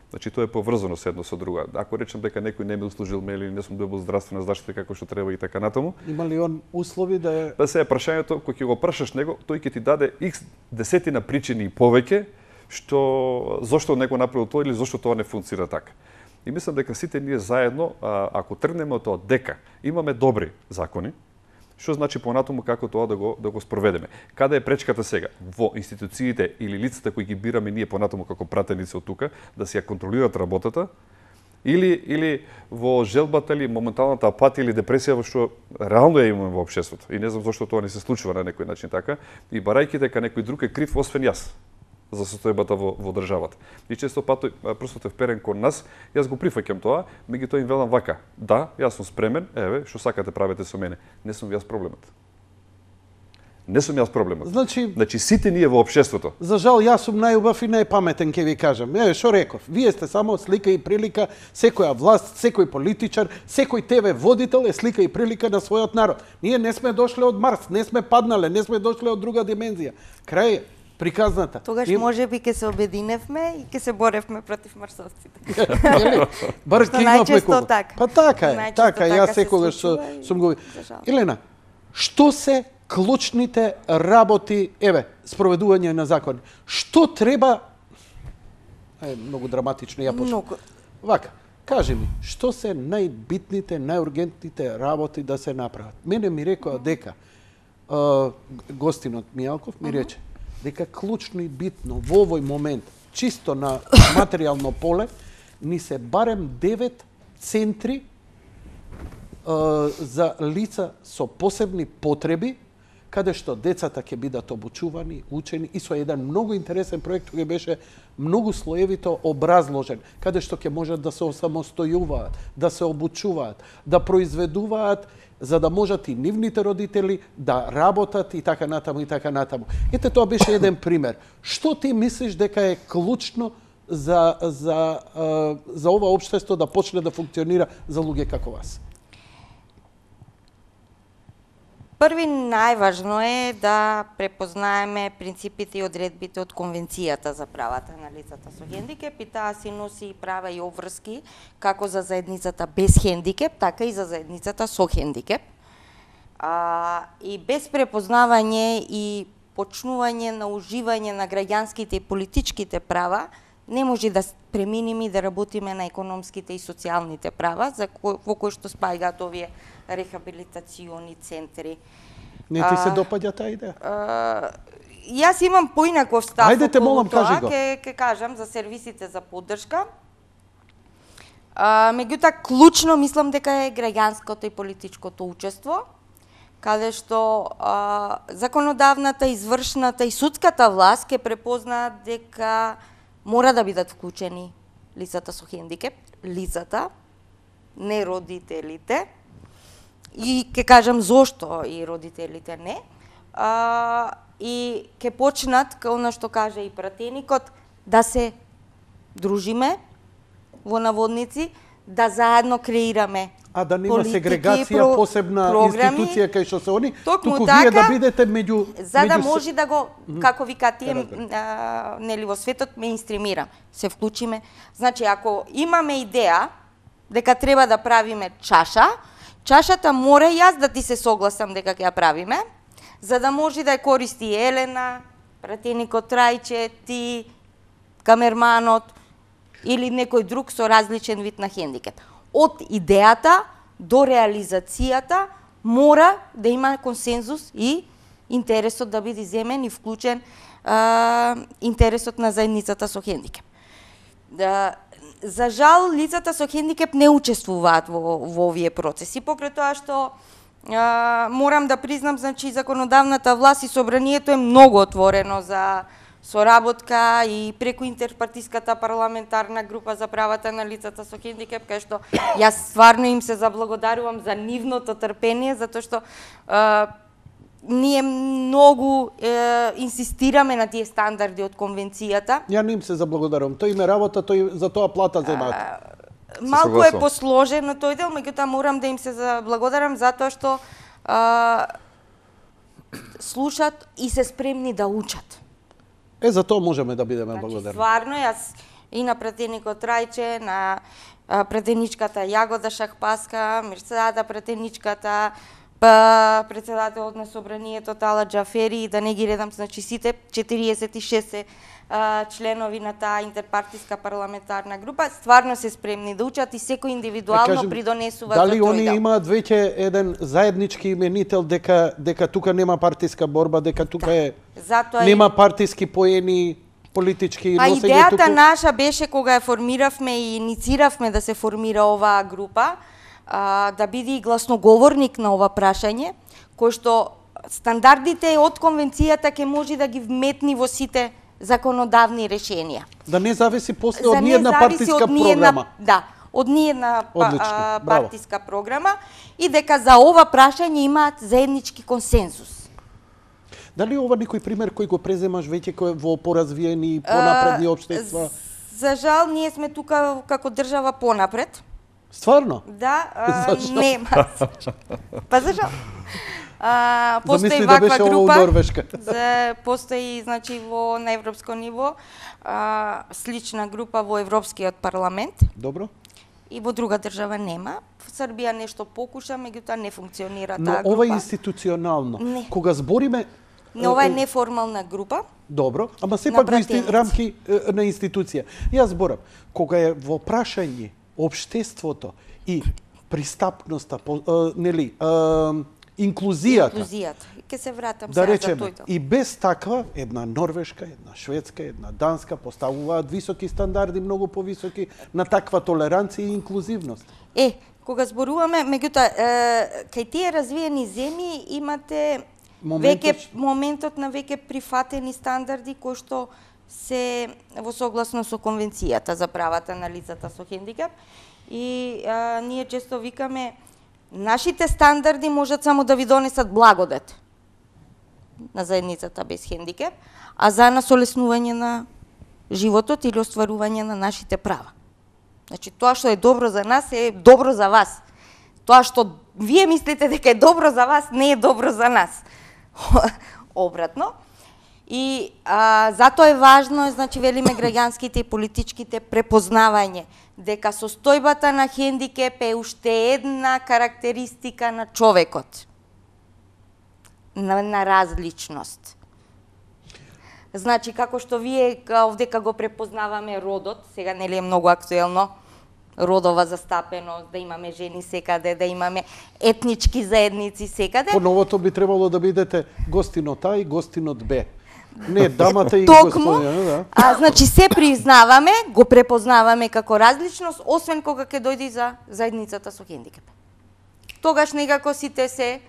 Значи, тоа е поврзано со едно со друго. Ако речем дека некој не ми услужил ме или не сум добил здравствена заштита како што треба и така натаму. Има ли он услови да е... Па се прашањето, кога ќе го прашаш него, тој ќе ти даде X десетина причини и повеќе, зошто не го направил тоа или зошто тоа не функцира така. И мислам дека сите ние заедно, ако тргнеме од тоа дека имаме добри закони, што значи понатаму како тоа да го спроведеме? Каде е пречката сега? Во институциите или лицата кои ги бираме ние понатаму како пратеници од тука, да си ја контролираат работата, или во желбата или моменталната апатија или депресија во што реално ја имаме во општеството. И не знам зошто тоа не се случува на некој начин така, и барајќи дека некој друг е крив освен јас за состојбата во државата. И често пати прстот е вперен кон нас, јас го прифаќам тоа, меѓутоа им велам вака: да, јас сум спремен, еве, што сакате правете со мене. Не сум јас проблемот. Не сум јас проблемот. Значи сите ние во општеството. За жал, јас сум најубав и најпаметен, ќе ви кажам. Што реков? Вие сте само слика и прилика, секоја власт, секој политичар, секој ТВ водител е слика и прилика на својот народ. Ние не сме дошле од Марс, не сме паднале, не сме дошле од друга димензија. Крај приказната. Тогаш можеби ќе се обединевме и ќе се боревме против марсовците. Бар ќе имавме кого. Така. Па така е, така, јас секогаш сум го... Елена, што се клучните работи, еве, спроведување на закони? Што треба... Многу драматично ја почнам. Вака, кажи ми, што се најбитните, најургентните работи да се направат? Мене ми рекоа дека, гостинот Мијалков ми рече, дека клучно и битно во овој момент, чисто на материјално поле, ни се барем 9 центри за лица со посебни потреби, каде што децата ќе бидат обучувани, учени, и со еден многу интересен проект кој беше многу слоевито образложен, каде што ќе можат да се осамостојуваат, да се обучуваат, да произведуваат, за да можат и нивните родители да работат и така натаму и така натаму. Ете, тоа беше еден пример. Што ти мислиш дека е клучно за ова општество да почне да функционира за луѓе како вас? Први најважно е да препознаеме принципите и одредбите од Конвенцијата за правата на лицата со хендикеп, и таа си носи права и обврски како за заедницата без хендикеп, така и за заедницата со хендикеп. И без препознавање и почнување на уживање на граѓанските и политичките права, не може да преминеме и да работиме на економските и социјалните права, во кои што спаѓаат овие рехабилитациони центри. Не ти се допаѓа таа идеја? Јас имам поинаков став. Ајде те молам, кажи го. Ке кажам за сервисите за поддршка. Меѓутоа, клучно мислам дека е граѓанското и политичкото учество, каде што законодавната, извршната и судската власт ќе препознаат дека мора да бидат вклучени лицата со хендикеп, лицата, не родителите, и ќе кажам зошто и родителите не, и ќе почнат, како она што каже и пратеникот, да се дружиме во наводници, да заедно креираме да нема сегрегација, посебна програми, институција кај што се они, туку така, вие да бидете меѓу... За да може да го, како вика тие, нели во светот меинстримира, се вклучиме. Значи, ако имаме идеја дека треба да правиме чашата мора јас да ти се согласам дека ќе ја правиме, за да може да ја користи Елена, пратеникот Трајче, ти, камерманот или некој друг со различен вид на хендикеп. Од идејата до реализацијата мора да има консензус и интересот да биде земен и вклучен интересот на заедницата со хендикеп. За жал, лицата со хендикеп не учествуваат во овие процеси, покрај тоа што морам да признам, значи, законодавната власт и собранието е многу отворено за соработка и преку интерпартиската парламентарна група за правата на лицата со хендикеп, кај што јас стварно им се заблагодарувам за нивното трпение, затоа што ние многу инсистираме на тие стандарди од конвенцијата. Ја не им се заблагодарувам, тој име работа, тој за тоа плата земаат. Малку е посложено тој дел, меѓутоа морам да им се заблагодарам затоа што слушат и се спремни да учат. За тоа можеме да бидеме благодарни. Стварно, јас и на пратеникот Трајче, на пратеничката Јагода Шахпаска, Мирсада пратеничката, председателот на собранието Тала Џафери, да не ги редам, значи сите 46 членови на таа интерпартиска парламентарна група, стварно се спремни да учат и секој индивидуално придонесува за тој дел. Дали они имаат веќе еден заеднички именител дека тука нема партиска борба, дека тука нема партиски поени, политички носење туку? Идејата наша беше кога ја формиравме и иницииравме да се формира оваа група, да биде и гласноговорник на ова прашање, кој што стандардите од конвенцијата ќе може да ги вметни во сите законодавни решенија. Да не зависи после од ниедна партиска програма. Да, од ниедна партиска програма, и дека за ова прашање имаат заеднички консензус. Дали ова некој пример кој го преземаш веќе кој во поразвиени и понапредни општества? За жал, ние сме тука како држава понапред. Стварно? Да, нема. Па за жал. Постои ваква да група, постои, значи, на европско ниво, слична група во Европскиот парламент. Добро. И во друга држава нема. В Србија нешто покуша, меѓутоа не функционира таа група. Но ова е институционално. Не. Кога збориме... Но ова е неформална група. Добро, ама сепак во рамки на институција. Јас зборам, кога е во прашање општеството и пристапноста, нели, инклузијата. Ке се вратам да сега речеме, за тој. И без таква, една Норвешка, една Шведска, една Данска поставуваат високи стандарди, многу повисоки на таква толеранција и инклузивност. Кога зборуваме, меѓутоа, кај тие развиени земји имате моментот на веќе прифатени стандарди кои што се во согласно со конвенцијата за правата на лицата со хендикеп, и ние често викаме нашите стандарди можат само да ви донесат благодет на заедницата без хендикеп, а за нас олеснување на животот или остварување на нашите права. Значи, тоа што е добро за нас е добро за вас. Тоа што вие мислите дека е добро за вас, не е добро за нас. Обратно. И затоа е важно, значи, велиме граѓанските и политичките препознавање, дека состојбата на хендикеп е уште една карактеристика на човекот, на различност. Значи, како што вие овдека го препознаваме родот, сега нели е многу актуелно, родова застапеност, да имаме жени секаде, да имаме етнички заедници секаде. По новото би требало да бидете гостинот А и гостинот Б. Не, дамата и Токму, господине, да. Значи се признаваме, го препознаваме како различност, освен кога ќе дојде за заедницата со хендикеп. Тогаш некако сите се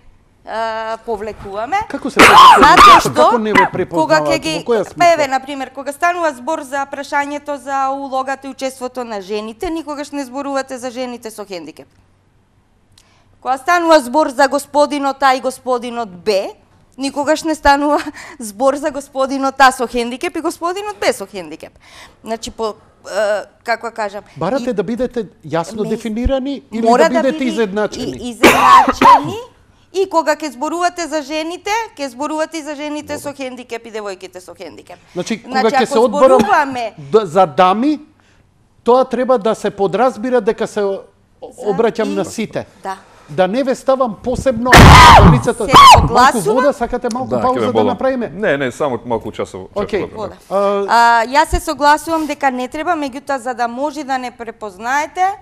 повлекуваме. Како се Затоа што како не ве кога препознаваат? ќе ги Во која смисла? еве на пример кога станува збор за прашањето за улогата и учеството на жените, никогаш не зборувате за жените со хендикеп. Кога станува збор за господинот А и господинот Б, никогаш не станува збор за господинот А со хендикеп и господинот Б со хендикеп. Значи како кажам, Барате да бидете јасно дефинирани или мора да бидете биде изедначени? Изедначени. И кога ќе зборувате за жените, ќе зборувате и за жените со хендикеп и девојките со хендикеп. Значи, кога ќе се одборам за дами, тоа треба да се подразбира дека се обраќам на сите. Да. Да не ве ставам посебно лицата. Се Малку согласувам. вода, сакате малку пауза да направиме? Не, само малку часово. Океј. Вода. Јас се согласувам дека не треба, меѓутоа за да може да не препознаете,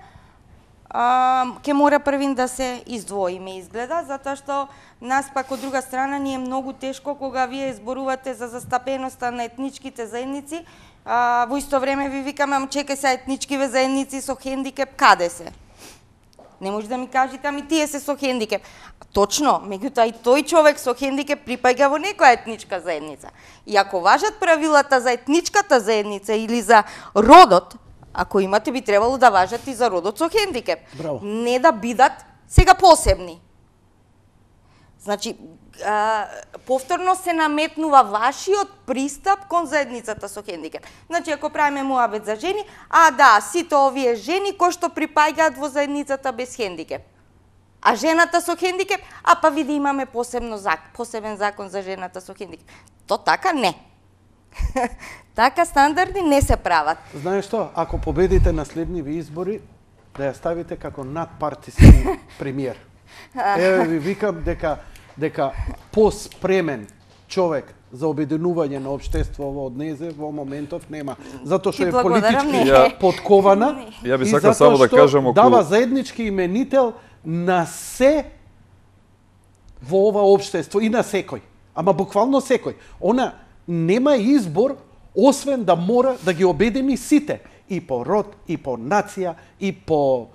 ќе мора првин да се издвоиме, изгледа, затоа што нас пак од друга страна ни е многу тешко кога вие зборувате за застапеноста на етничките заедници, во исто време ви викаме, чекај се, етничкиве заедници со хендикеп каде се? Не може да ми кажете, ами тие се со хендикеп. Точно, меѓутоа и тој човек со хендикеп припаѓа во некоја етничка заедница. И ако важат правилата за етничката заедница или за родот, ако имате, би требало да важат и за родот со хендикеп. Браво. Не да бидат сега посебни. Значи, повторно се наметнува вашиот пристап кон заедницата со хендикеп. Значи, ако правиме муабет за жени, да, сите овие жени кои што припаѓаат во заедницата без хендикеп. А жената со хендикеп, па види имаме посебен закон за жената со хендикеп. То така не. Така стандарди не се прават. Знаеш што, ако победите на следниви избори, да ја ставите како надпартиски премиер. Еве ви викам дека поспремен човек за обединување на општеството од незе во моментов нема. Затоа што е политички подкована. Ја би сакал само да кажам околу дава заеднички именител на се во ова општество и на секој. Ама буквално секој. Она нема избор освен да мора да ги обедини сите, и по род, и по нација, и по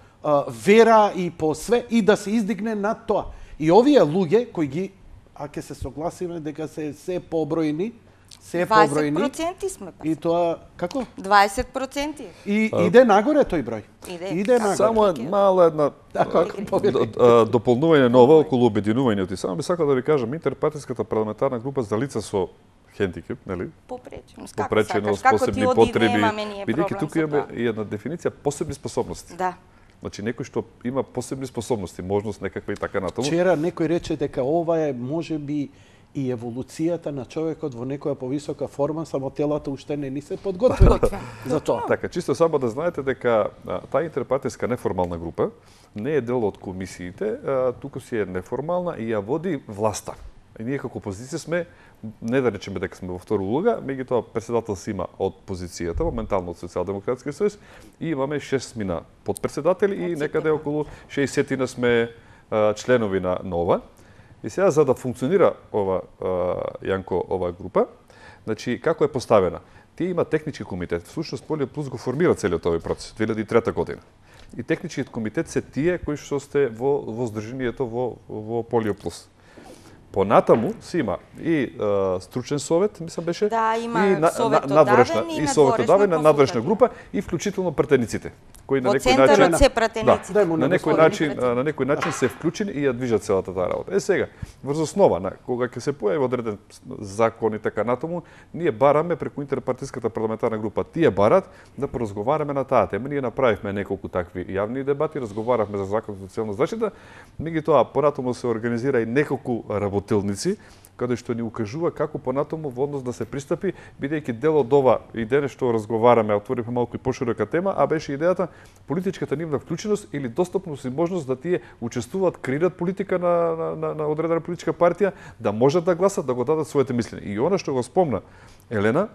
вера, и по све, и да се издигне над тоа. И овие луѓе кои ги, ќе се согласиме дека се побројни, 20% сме па. И тоа како? 20%. И иде нагоре тој број. Иде нагоре. Само мала една дополнување нова околу обединувањето. И само би сакал да ви кажам, интерпартиската парламентарна група за лица со хендикеп, нели? Попреченост, посебни потреби. Бидејќи тука имаме и една дефиниција посебни способности. Да. Значи некој што има посебни способности, можност некаква и така натаму. Вчера некој рече дека ова е можеби и еволуцијата на човекот во некоја повисока форма, само телата уште не ни се подготвени за тоа. Така, чисто само да знаете дека таа интерпартиска неформална група не е дел од комисиите, туку си е неформална и ја води власта. И ние како опозиција сме, не да речеме дека сме во втора улога, меѓутоа председател си има од позицијата, моментално од Социјалдемократски сојуз, и имаме 6 мина подпредседатели и некаде околу 60 сме членови на нова. И сега за да функционира ова Јанко ова група, значи како е поставена? Тие има технички комитет, всушност Полио Плюс го формира целиот овој процес 2003 година. И техничкиот комитет се тие кои што сте во здруженијето во Полио Плюс. Понатаму си има и стручен совет, мислам беше, да, има и надворешна група и вклучително претениците. кои на Во некој центарот начин се пратеници. Дај му на некој господине. начин се вклучени и ја движат целата таа работа. Сега, врз основа на кога ќе се појави одреден закон и така натаму, ние бараме преку интерпартиската парламентарна група, тие барат да поразговараме на таа тема. Ние направивме неколку такви јавни дебати, разговаравме за законот за социјална заштита, меѓутоа понатаму се организира и неколку работилници каде што ни укажува како понатаму во однос да се пристапи, бидејќи дел од ова и денес што разговараме, отворивме малку и поширока тема, а беше идејата политичката нивна вклученост или достапност и можност да тие учествуваат, креираат политика на одредена политичка партија, да можат да гласат, да го дадат своите мислење. И она што го спомна Елена,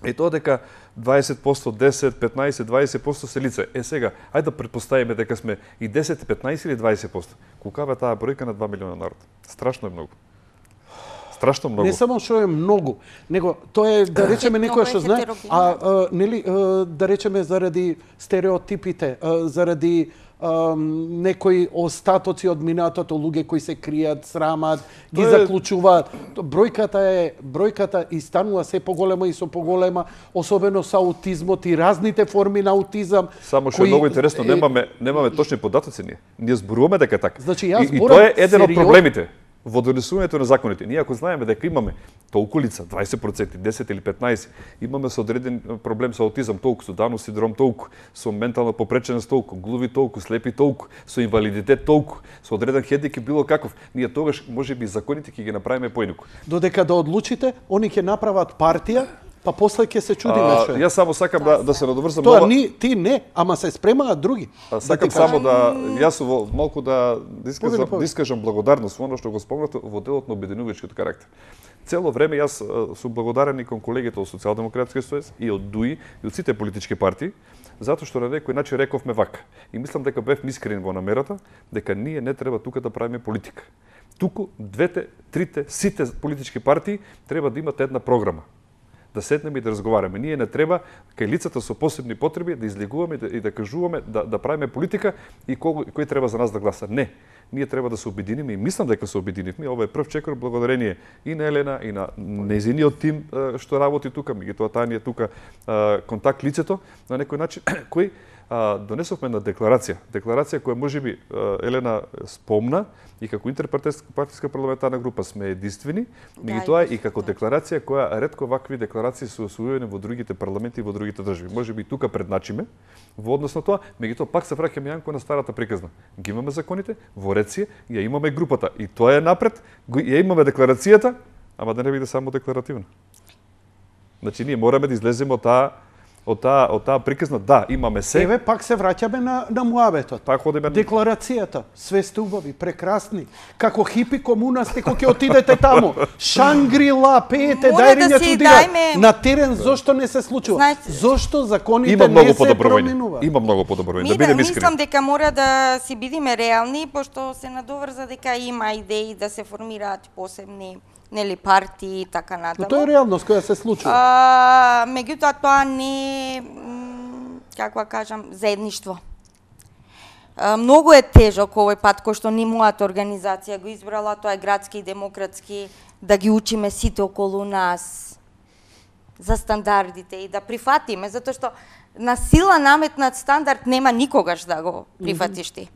е тоа дека 20%, 10, 15, 20% се лице. Сега, ајде да претпоставиме дека сме и 10, 15 или 20%. Колкава е таа бројка на 2 милиона народ? Страшно е многу. Страшно многу. Не само што е многу, него тоа е да речеме некој што знае, нели да речеме заради стереотипите, заради некои остатоци од минатото, луѓе кои се кријат, срамат, ги заклучуваат. Бројката и станува се поголема и со поголема, особено со аутизмот и разните форми на аутизам. Само што е многу интересно, немаме точни податоци ние. Ние зборуваме дека е така. Значи, јас и тоа е еден од проблемите во донесувањето на законите. Ние ако знаеме дека имаме толку лица, 20%, 10 или 15, имаме со одреден проблем со аутизам толку, со Данов синдром толку, со ментална попреченост толку, глуви толку, слепи толку, со инвалидитет толку, со одреден хендикеп било каков, ние тогаш можеби законите ќе ги направиме поинаку. Додека да одлучите, они ќе направат партија, па после ќе се чудиме што е. Јас само сакам да се надоврзам. Тоа ти не, ама се спремаат други. Сакам само јас малку да искажам благодарност во оно што го спомнате во делот на обединувачкиот карактер. Цело време јас сум благодарен и кон колегите од Социјалдемократскиот сојуз и од ДУИ и од сите политички партии, затоа што на некој начин рековме вака. И мислам дека бевме искрени во намерата дека ние не треба тука да правиме политика. Туку двете, трите, сите политички партии треба да имат една програма. Да седнеме и да разговараме. Ние не треба кај лицата со посебни потреби да излегуваме и да кажуваме, да правиме политика и кој треба за нас да гласа. Не. Ние треба да се обединиме и мислам дека се обединивме. Ова е прв чекор благодарение и на Елена и на нејзиниот тим што работи тука, меѓутоа таа ни е тука контакт лицето на некој начин кој донесовме на декларација која можеби Елена спомна и како интерпартиска парламентарна група сме единствени, меѓутоа и како декларација која ретко вакви декларации се усвоени во другите парламенти и во другите држави. Можеби тука предначиме во однос на тоа, меѓутоа пак се враќаме Јанко на старата приказна. Ги имаме законите, во ред си, ја имаме групата и тоа е напред, ја имаме декларацијата, ама да не биде само декларативна. Значи ние мораме да излеземе од таа приказна, да, имаме се. Еве пак се враќаме на муабетот. Пак одиме декларацијата, све сте убави, прекрасни. Како хипи комунасти кој ќе отидете таму. Шангрила, пеете, дајриња чудира. На терен зошто не се случува? Зошто законите не се променуваат? Има многу подобрување. Да бидеме искрени. Мислам дека мора да си бидиме реални, пошто се надоврза дека има идеи да се формираат посебни партии и така натаму. Тоа е реалност која се случува. Меѓутоа тоа не е, како кажам, заедништво. Многу е тежок овој пат кој што ни мојата организација го избрала, тоа е градски и демократски, да ги учиме сите околу нас за стандардите и да прифатиме, затоа што на сила наметнат стандард нема никогаш да го прифатиш ти.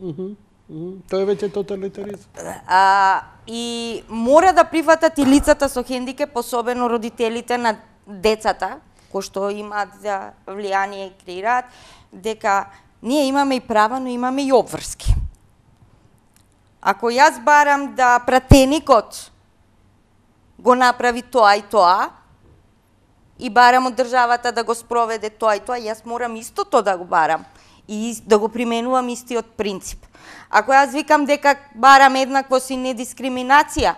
Тоа е веќе тоталитаризм. И мора да прифатат и лицата со хендикеп, особено родителите на децата, кои што имаат влијание и креираат, дека ние имаме и права, но имаме и обврски. Ако јас барам да пратеникот го направи тоа и тоа, и барам од државата да го спроведе тоа и тоа, јас морам истото да го барам и да го применувам истиот принцип. Ако јас викам дека барам еднаквост и недискриминација,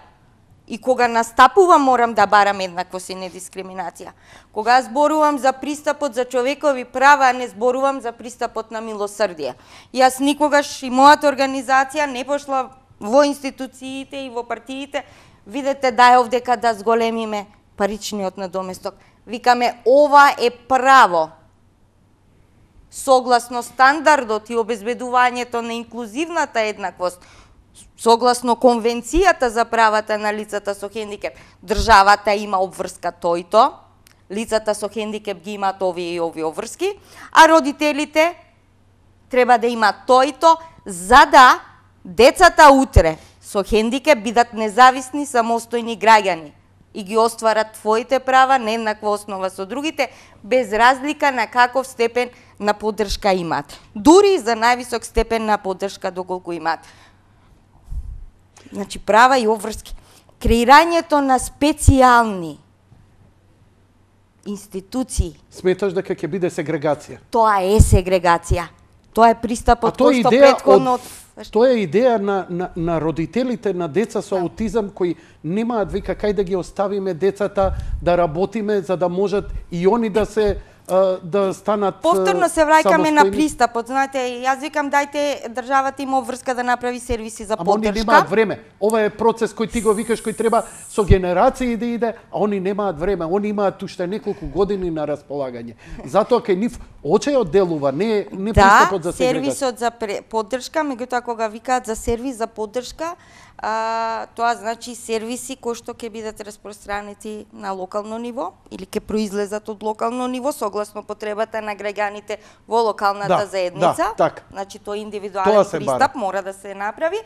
и кога настапувам морам да барам еднаквост и недискриминација. Кога зборувам за пристапот за човекови права, не зборувам за пристапот на милосрдие. Јас никогаш и мојата организација не пошла во институциите и во партиите, видете да е овдека да зголемиме паричниот надоместок. Викаме ова е право. Согласно стандардот и обезбедувањето на инклузивната еднаквост, согласно Конвенцијата за правата на лицата со хендикеп, државата има обврска тој и то, лицата со хендикеп ги имаат овие и овие обврски, а родителите треба да има тој и то, за да децата утре со хендикеп бидат независни, самостојни граѓани и ги остварат твоите права на еднаква основа со другите, без разлика на каков степен на поддршка имаат. Дури и за највисок степен на поддршка доколку имаат. Значи, права и обврски. Креирањето на специјални институции. Сметаш дека ќе биде сегрегација? Тоа е сегрегација. Тоа е пристапот кој што претходно... Тоа е идеја на родителите на деца со аутизам кои немаат вика кај да ги оставиме децата да работиме за да можат и они да се да станат повторно се враќаме на пристапот. Знаете, јас викам дајте државата има обврска да направи сервиси за поддршка. Они немаат време. Ова е процес кој ти го викаш кој треба со генерации да иде, а они немаат време. Они имаат уште неколку години на располагање. Затоа кај нив очејот делува, не пристапот за сегрегација. Сервисот за поддршка, меѓутоа кога викаат за сервис за поддршка, тоа значи сервиси кои што ќе бидат распространети на локално ниво или ќе произлезат од локално ниво согласно потребата на граѓаните во локалната заедница. Значи тој индивидуален пристап мора да се направи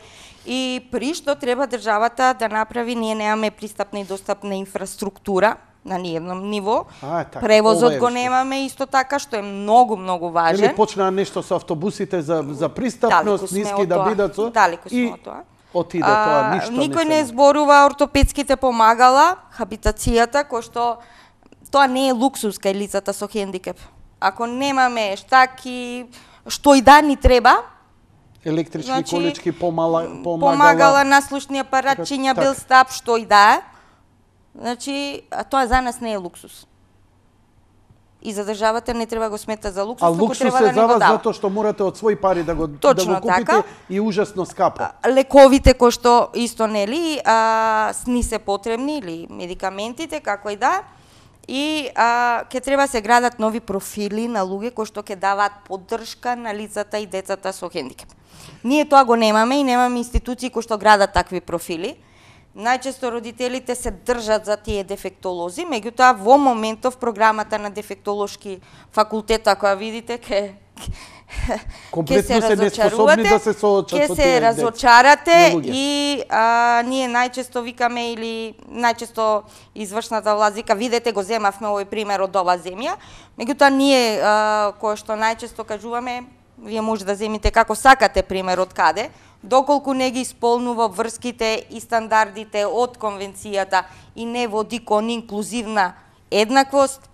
и при што треба државата да направи, ние немаме пристапна и достапна инфраструктура на ниедном ниво. Превозот го немаме исто така, што е многу важен. Или почнаа нешто со автобусите за пристапност, ниски да бидат со. Далеку сме од тоа. Отиде тоа, ништо никој не зборува ортопедските помагала, хабитацијата, кој што тоа не е луксус кај лицата со хендикеп. Ако немаме штаки, што и да ни треба, електрички колички помагала, наслушни апаратчиња, белстап, што и да, значи тоа за нас не е луксус. И за државата не треба го смета за луксус, туку треба да не го дава. Затоа што морате од свој пари да го купите и ужасно скапо. Лековите кои што исто нели ни се потребни или медикаментите како и да. И ќе треба се градат нови профили на луѓе кои што ќе даваат поддршка на лицата и децата со хендикеп. Ние тоа го немаме и немаме институции кои што градат такви профили. Најчесто родителите се држат за тие дефектолози, меѓутоа во моментов програмата на дефектолошки факултет, ако ја видите, ќе се разочарувате, ќе се разочарате и ние најчесто викаме или најчесто извршната власт вика видете го земавме овој пример од оваа земја, меѓутоа ние кој што најчесто кажуваме вие може да земите како сакате пример од каде, доколку не ги исполнува врските и стандардите од конвенцијата и не води кон инклузивна еднаквост,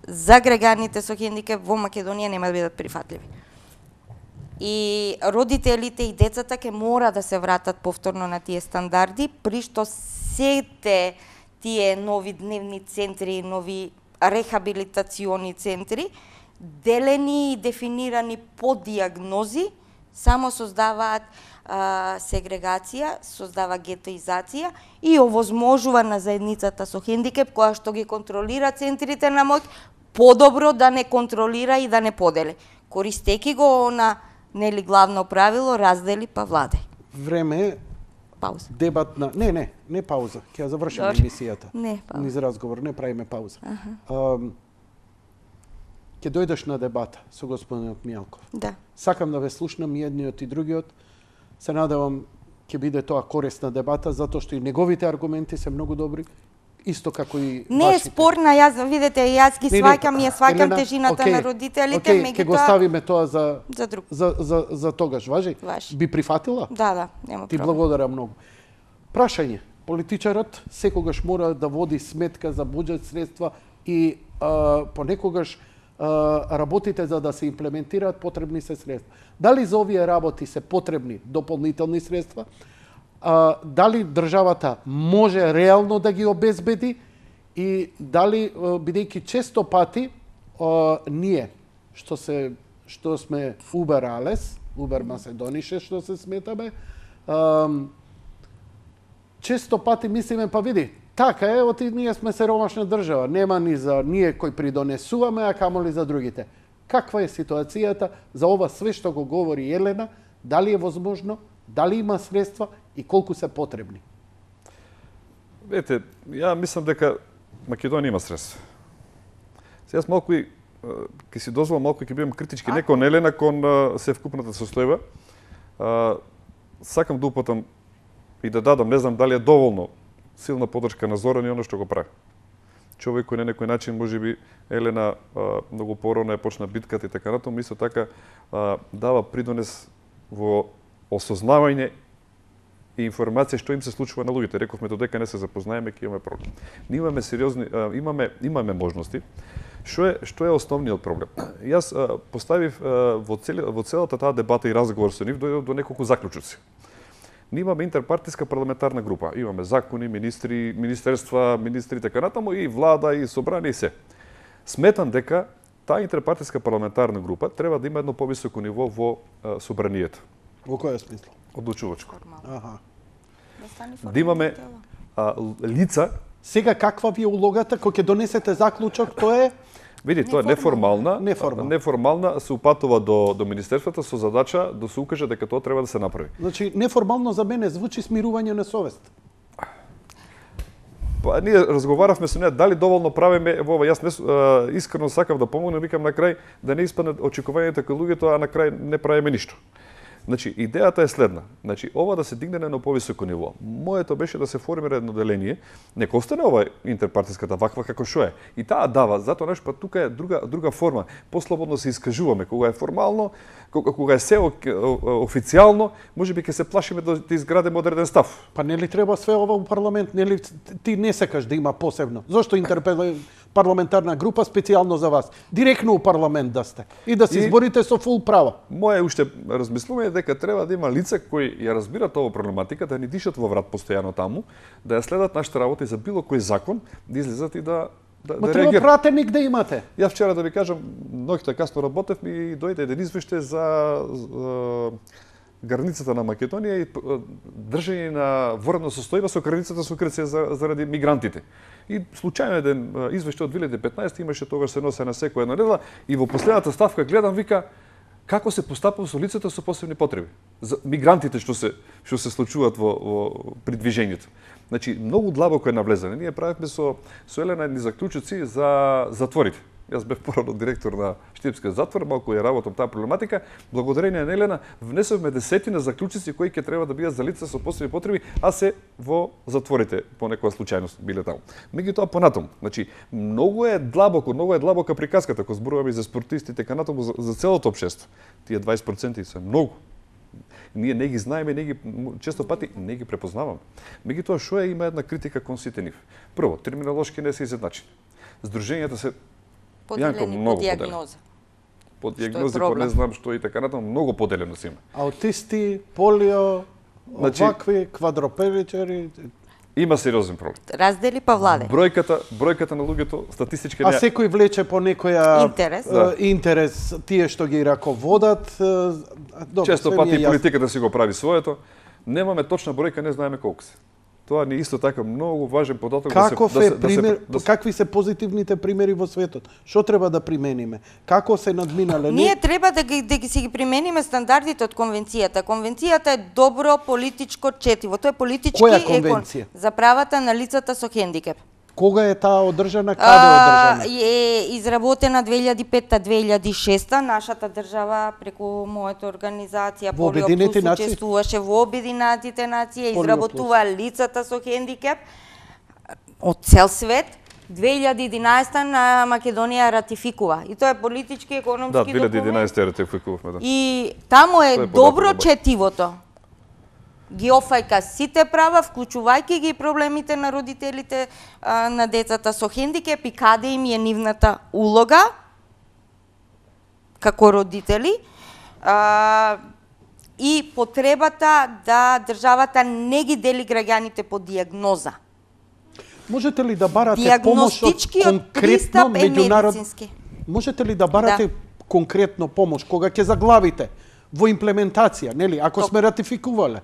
за граѓаните со хендикеп во Македонија нема да бидат прифатливи. И родителите и децата ќе мора да се вратат повторно на тие стандарди, при што сите тие нови дневни центри, нови рехабилитациони центри, делени и дефинирани по диагнози, само создаваат сегрегација, создава гетоизација и овозможува на заедницата со хендикеп, која што ги контролира центрите на моќ, подобро да не контролира и да не подели. Користејќи го на нели главно правило, раздели па владај. Време пауза. Дебатна, не пауза, ќе ја завршиме емисијата. Не пауза. Низ разговор, не правиме пауза. Ќе дојдеш на дебата со господинот Мијалков. Да. Сакам да ве слушнам и едниот и другиот. Се надевам ќе биде тоа корисна дебата, затоа што и неговите аргументи се многу добри, исто како и вашите. Не е спорна, јас видите, јас ги сваќам, ја сваќам тежината на родителите, меѓутоа ќе го ставиме тоа друг. За тогаш, важи? Би прифатила? Да, нема проблем. Ти благодарам многу. Прашање. Политичарот секогаш мора да води сметка за буџет средства и понекогаш работите за да се имплементираат потребни се средства. Дали за овие работи се потребни дополнителни средства? Дали државата може реално да ги обезбеди и дали бидејќи често пати ние што сме Убер Алес, Убер Маседонише што се сметаме, често пати мислиме па види така е, ние сме сиромашна држава, нема ни за ние кои придонесуваме, а камоли за другите. Каква е ситуацијата за ова све што го говори Елена, дали е возможно, дали има средства и колку се потребни? Вете, ја мислам дека Македонија има средства. Сега малку и ќе си дозволам малку ќе бидам критички не кон Елена, кон севкупната состојба. Сакам да упатам и да дадам, не знам дали е доволно силна поддршка на Зоран и оно што го прави. Човек кој на некој начин можеби Елена многу порано е почна битката и така натаму, исто така дава придонес во осознавање и информација што им се случува на луѓето. Рековме додека не се запознаеме ќе имаме проблем. Ние имаме сериозни имаме можности. Што е основниот проблем? Јас поставив во целата таа дебата и разговор со нив дојдов до неколку заклучоци. Ние имаме интерпартиска парламентарна група. Имаме закони, министри, министерства, министри така натаму и влада и собрание и се. Сметам дека таа интерпартиска парламентарна група треба да има едно повисоко ниво во собранието. Во кој смисла? Одлучувачко. Аха. Да имаме лица. Сега каква ви е улогата кога ќе донесете заклучок, тоа е Види, тоа е неформална се упатува до министерството со задача да се укаже дека тоа треба да се направи. Значи неформално за мене звучи смирување на совест. Па ние разговаравме со неа дали доволно правиме во ова. Јас искрено сакав да помогнам, викам на крај да не испаднат очекувањата кај луѓето, а на крај не правиме ништо. Значи, идејата е следна. Значи, ова да се дигне на едно повисоко ниво. Моето беше да се формира едно деление. Нека остане ова интерпартиската ваква како што е. И таа дава, затоа нешто, па тука е друга форма. Послободно се искажуваме. Кога е формално, кога е се официјално, можеби ќе се плашиме да изградиме одреден став. Па нели треба све ова у парламент? Нели ти не сакаш да има посебно? Зошто парламентарна група специјално за вас? Директно у парламент да сте и да се изборите со фул права. Моje уште размислување дека треба да има лица кои ја разбират оваа проблематика, да ни дишат во врат постојано таму, да ја следат нашите работи за било кој закон, да излезат и да треба пратеник да имате. Ја вчера да ви кажам, ноќта касно работев и дојде еден извеште за границата на Македонија и држање на воредна состојба со границата со Грција заради мигрантите. И случајно еден извеште од 2015 имаше тогаш се носе на секоја една недела и во последната ставка гледам вика како се постапува со лицата со посебни потреби. За мигрантите што се случуваат во при движењето. Значи многу длабоко е навлезене. Ние правевме со Елена едни заклучоци за затворите. Јас бев порано директор на Штипскиот затвор, малку ја работам таа проблематика. Благодарение на Елена внесовме десетина заклучици кои ќе треба да бидат за лица со посебни потреби, а се во затворите по некоја случајност биле таму. Меѓутоа понатаму, значи многу е длабока приказката кога зборуваме за спортисти така натаму за целото општество. Тие 20% се многу. Ние не ги знаеме, често пати не ги препознаваме. Меѓутоа што има една критика кон сите нив. Прво, терминолошки не се изедначени. Здруженијата се поделени по дијагноза. По дијагнози, по не знам што и така натаму, многу поделено се има. Аутисти, полио, овакви, квадропеличари. Има сериозен проблем. Раздели па владе. Бројката на луѓето статистички А секој влече по некоја интерес, тие што ги раководат. Често пати политиката си го прави своето. Немаме точна бројка, не знаеме колку се. Тоа ни исто така многу важен податок какви се позитивните примери во светот? Што треба да примениме? Како се надминале? Ние треба да ги си ги примениме стандардите од конвенцијата. Конвенцијата е добро политичко четиво. Тоа е политички Која конвенција? За правата на лицата со хендикеп. Кога е таа одржана? Каде е одржана? Е изработена 2005-2006. Нашата држава преку мојата организација Полио Плюс учествуваше во Обединетите нации, изработува лицата со хендикеп од цел свет. 2011 на Македонија ратификува. И тоа е политички, економски документ. Да, 2011 ратификувавме, да. И таму е добро четивото. Ги офајка сите права, вклучувајќи ги проблемите на родителите на децата со хендикеп и каде им е нивната улога како родители и потребата да државата не ги дели граѓаните по дијагноза. Можете ли да барате помош од конкретно меѓународно? Можете ли да барате конкретно помош кога ќе заглавите во имплементација, нели, ако сме ратификувале?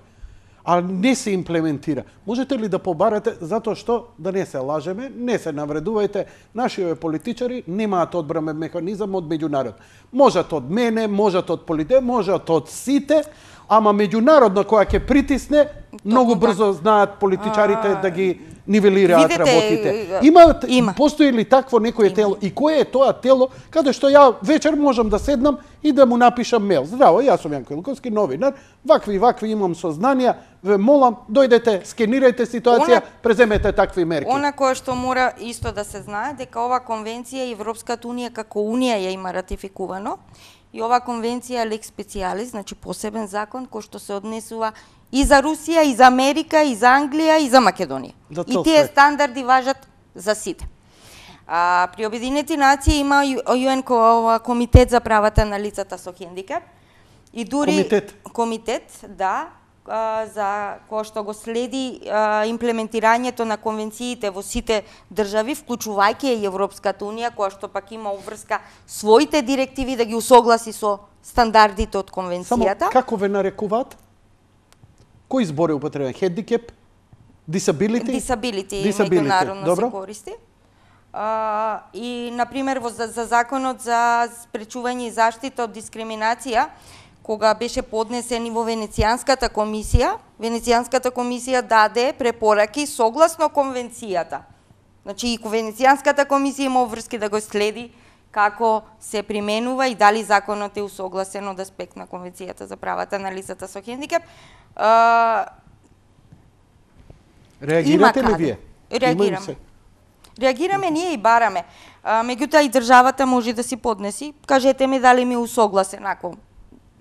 А не се имплементира. Можете ли да побарате, затоа што, да не се лажеме, не се навредувајте, нашите политичари немаат одбранен механизам од меѓународ. Можат од мене, можат од можат од сите, ама меѓународно која ќе притисне, многу брзо знаат политичарите да ги нивелираат работите. Има. Постои ли такво некое тело и кое е тоа тело каде што ја вечер можам да седнам и да му напишам мејл. Здраво, јас сум Јанко Илковски, новинар, вакви имам сознанија, ве молам, дојдете, скенирајте ситуација, преземете такви мерки. Она кое што мора исто да се знае дека ова конвенција Европската унија како унија ја има ратификувано и ова конвенција е лекс специјалис, значи посебен закон кој што се однесува и за Русија, и за Америка, и за Англија, и за Македонија. И тие стандарди важат за сите. При Обединените нации има ЮН комитет за правата на лицата со хендикеп и дури комитет, да, за кој што го следи имплементирањето на конвенциите во сите држави, вклучувајќи и Европската унија, која што пак има уврска своите директиви да ги усогласи со стандардите од конвенцијата. Само како ве нарекуваат? Кој збори употребен? Хендикеп? Disability? Disability меѓународно се користи. И, например, за законот за спречување и заштита од дискриминација, кога беше поднесен и во Венецијанската комисија даде препораки согласно конвенцијата. Значи, и Венецијанската комисија има обврски да го следи како се применува и дали законот е усогласен од аспект на Конвенцијата за правата на лицата со хендикеп. Реагирате ли вие? Реагираме ние и бараме. Меѓутоа и државата може да си поднеси. Кажете ми дали ми усогласен, ако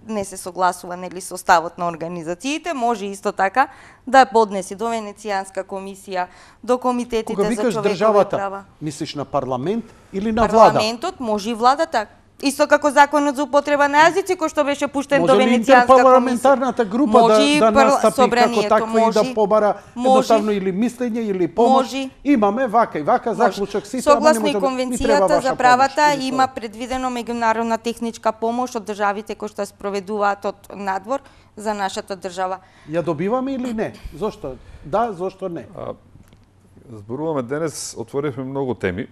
не се согласува нели со ставот на организациите, може исто така да поднеси до Венецијанска комисија, до комитетите за човекови права. Кога викаш државата, мислиш на парламент или на влада? Парламентот, може и владата. Исто како законот за употреба на јазици кој што беше пуштен до Венецијанска комисија. Може ли интерпарламентарната група да настапи како таква и да побара едноставно или мислење или помош? Имаме вака и вака заклучок сите, ама не може да Конвенцијата за правата има предвидено меѓународна техничка помош од државите кои што спроведуваат од надвор за нашата држава. Ја добиваме или не? Зошто? Да, зошто не? Зборуваме денес, отворивме многу теми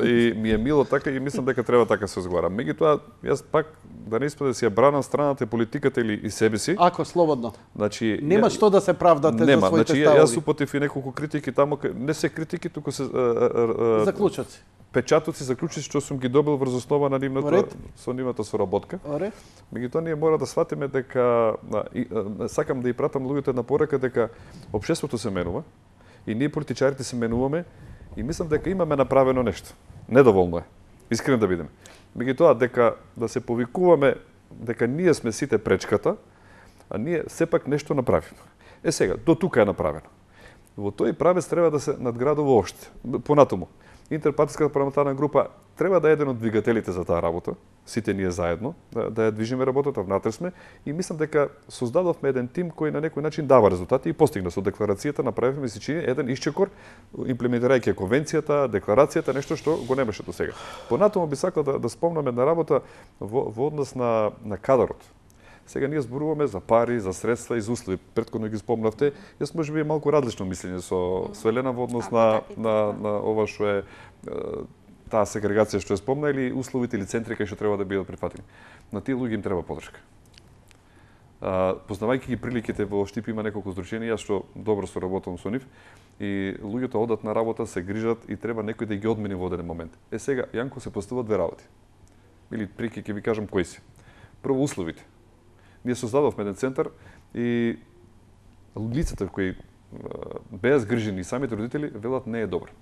и ми е мило така и мислам дека треба така се разговара. Меѓутоа, јас пак да не испаде да си ја бранам страната и политиката или и себе си. Ако слободно. Значи нема што да се правдате за своите ставови. Јас упатив и неколку критики таму, не се критики, туку се заклучоци. Печатоци, заклучоци што сум ги добил врз основа на нивната соработка. Меѓутоа ние мора да сватиме дека сакам да ја пратам луѓето една порака дека општеството се менува. И ние политичарите се менуваме и мислам дека имаме направено нешто. Недоволно е. Искрено да бидеме. Меѓутоа дека да се повикуваме дека ние сме сите пречката, а ние сепак нешто направиме. Сега, до тука е направено. Во тој правец треба да се надградува оште. Понатаму, интерпартиската парламентарна група треба да е еден од двигателите за таа работа, сите ние заедно, да ја движиме работата, внатре сме и мислам дека создадовме еден тим кој на некој начин дава резултати и постигна со декларацијата, направивме се чини еден исчекор, имплементирајќи конвенцијата, декларацијата, нешто што го немаше до сега. Понатаму би сакал да спомнам една работа во однос на кадарот. Сега ние зборуваме за пари, за средства и за услови. Претходно ги спомнавте. Јас можеби е малку различно мислење со Елена во однос на ова што е таа сегрегација што ја спомна или условите или центри кај што треба да бидат прифатени. На тие луѓе им треба подршка. Познавајќи ги приликите во Штип има неколку здруженија што добро соработувам со нив и луѓето одат на работа, се грижат и треба некој да ги одмени во оден момент. Сега Јанко се поставуваат две работи. Или прики ќе ви кажам кои се. Прво условите. Ние создадовме еден центар и лицата кои беа згрижени и самите родители велат не е добро.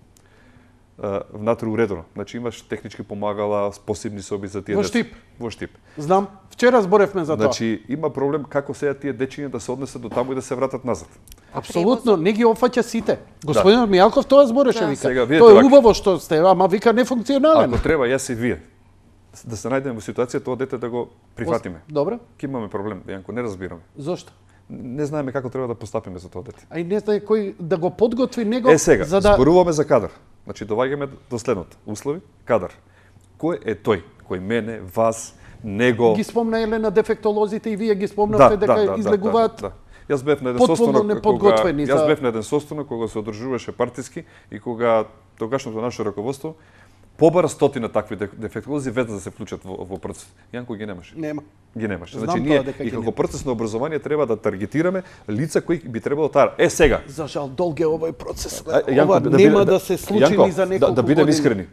Внатре уредено. Значи имаш технички помагала, посебни соби за тие деца. Во Штип. Знам. Вчера зборевме за тоа. Значи има проблем како сега тие дечиња да се однесат до таму и да се вратат назад. Апсолутно, не ги опфаќа сите. Господин Мијалков тоа збореше, вика. Тоа е убаво што сте, ама вика нефункционален. Ако треба јас и вие да се најдеме во ситуација тоа дете да го прифатиме. Добро. Ке имаме проблем, Јанко, не разбираме. Зошто? Не знаеме како треба да постапиме за тоа дете. А и не знае кој да го подготви него сега, за да зборуваме за кадар. Значи доваѓаме до следното. Услови, кадар. Кој е тој? Кој мене, вас, него? Ги спомна Елена дефектолозите и вие ги спомнавте дека излегуваат. Јас бев на еден состанок кога се одржуваше партиски и кога тогашното наше раководство побара стотина такви дефектолози веднаш да се вклучат во процес. Јанко ги немаше. Нема. Ги немаше. Знам Значи тоа ние дека и ги како нема. процес на образование треба да таргетираме лица кои би требало таа. Сега. За жал долг е овој процес. Јанко, Ова нема да се случи ни за неколку да бидем години. искрени.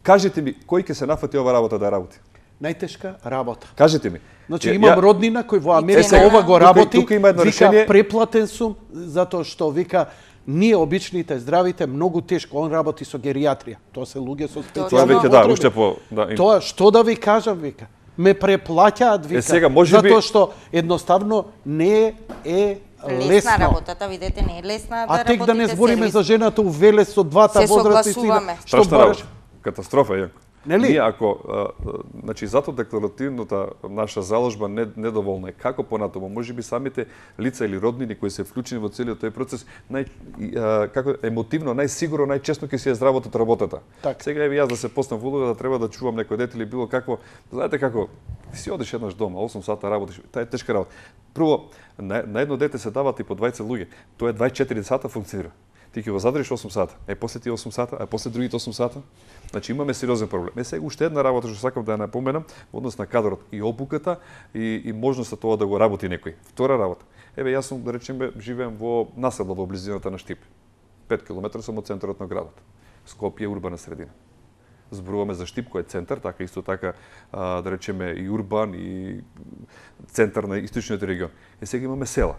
Кажете ми кој ќе се нафати ова работа да работи? Најтешка работа. Кажете ми. Значи имам роднина кој во Америка сега, ова го работи, тука има едно вика решение. преплатен сум затоа што вика ние обичните здравите многу тешко, он работи со геријатрија. Тоа се луѓе со Тоа специјални веќе да, потреби. уште по Тоа што да ви кажам, вика. Ме преплаќаат, вика. сега, може би- затоа што едноставно не е лесно. работата, видете, не е лесна да А тек да не работите збориме сервис. за жената у Велес со двата Се возрастни согласуваме. што страшна бараш. работа. Катастрофа е. Нели? Ние ако значи затоа декларативната наша заложба недоволна е. Како понатаму можеби самите лица или роднини кои се вклучени во целиот тој процес како емотивно, најсигурно, најчесно ќе си ја здравотот работата. Так. Сега еве јас да се постам во улога да треба да чувам некој дете или било какво, знаете како си одиш еднаш дома, 8 сата работиш, таа е тешка работа. Прво, на едно дете се дават и по 20 луѓе. Тоа е 24 сата функционира. Ти ќе го задржиш 8 сата, после тие 8 сата, а после другите 8 сата. Значи имаме сериозен проблем. Сега уште една работа што сакам да ја напоменам во однос на кадрот и обуката и можноста тоа да го работи некој. Втора работа. Еве јас сум да речеме живеем во населба во близината на Штип. 5 километри сум од центарот на градот. Скопје е урбана средина. Зборуваме за Штип кој е центар, така исто така да речеме и урбан и центар на источниот регион. Сега имаме села.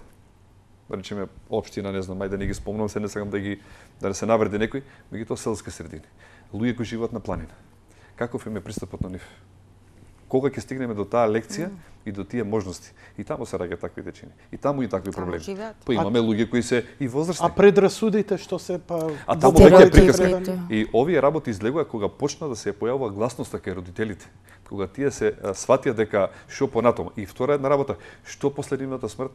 Да речеме општина, не знам, ајде да не ги спомнам, се не сакам да не се навреди некој, меѓутоа селски средини. Луѓе кои живеат на планина. Каков им е пристапот на нив? Кога ќе стигнеме до таа лекција и до тие можности? И таму се раѓаат такви дечини. И таму и такви проблеми. живеат. Па имаме луѓе кои се и возрастни. А предрасудите што се па А таму во веќе е повеќе приказка. време? И овие работи излегува кога почна да се појавува гласноста кај родителите. Кога тие се сватија дека што понатаму. И втора една работа, што после нивната смрт?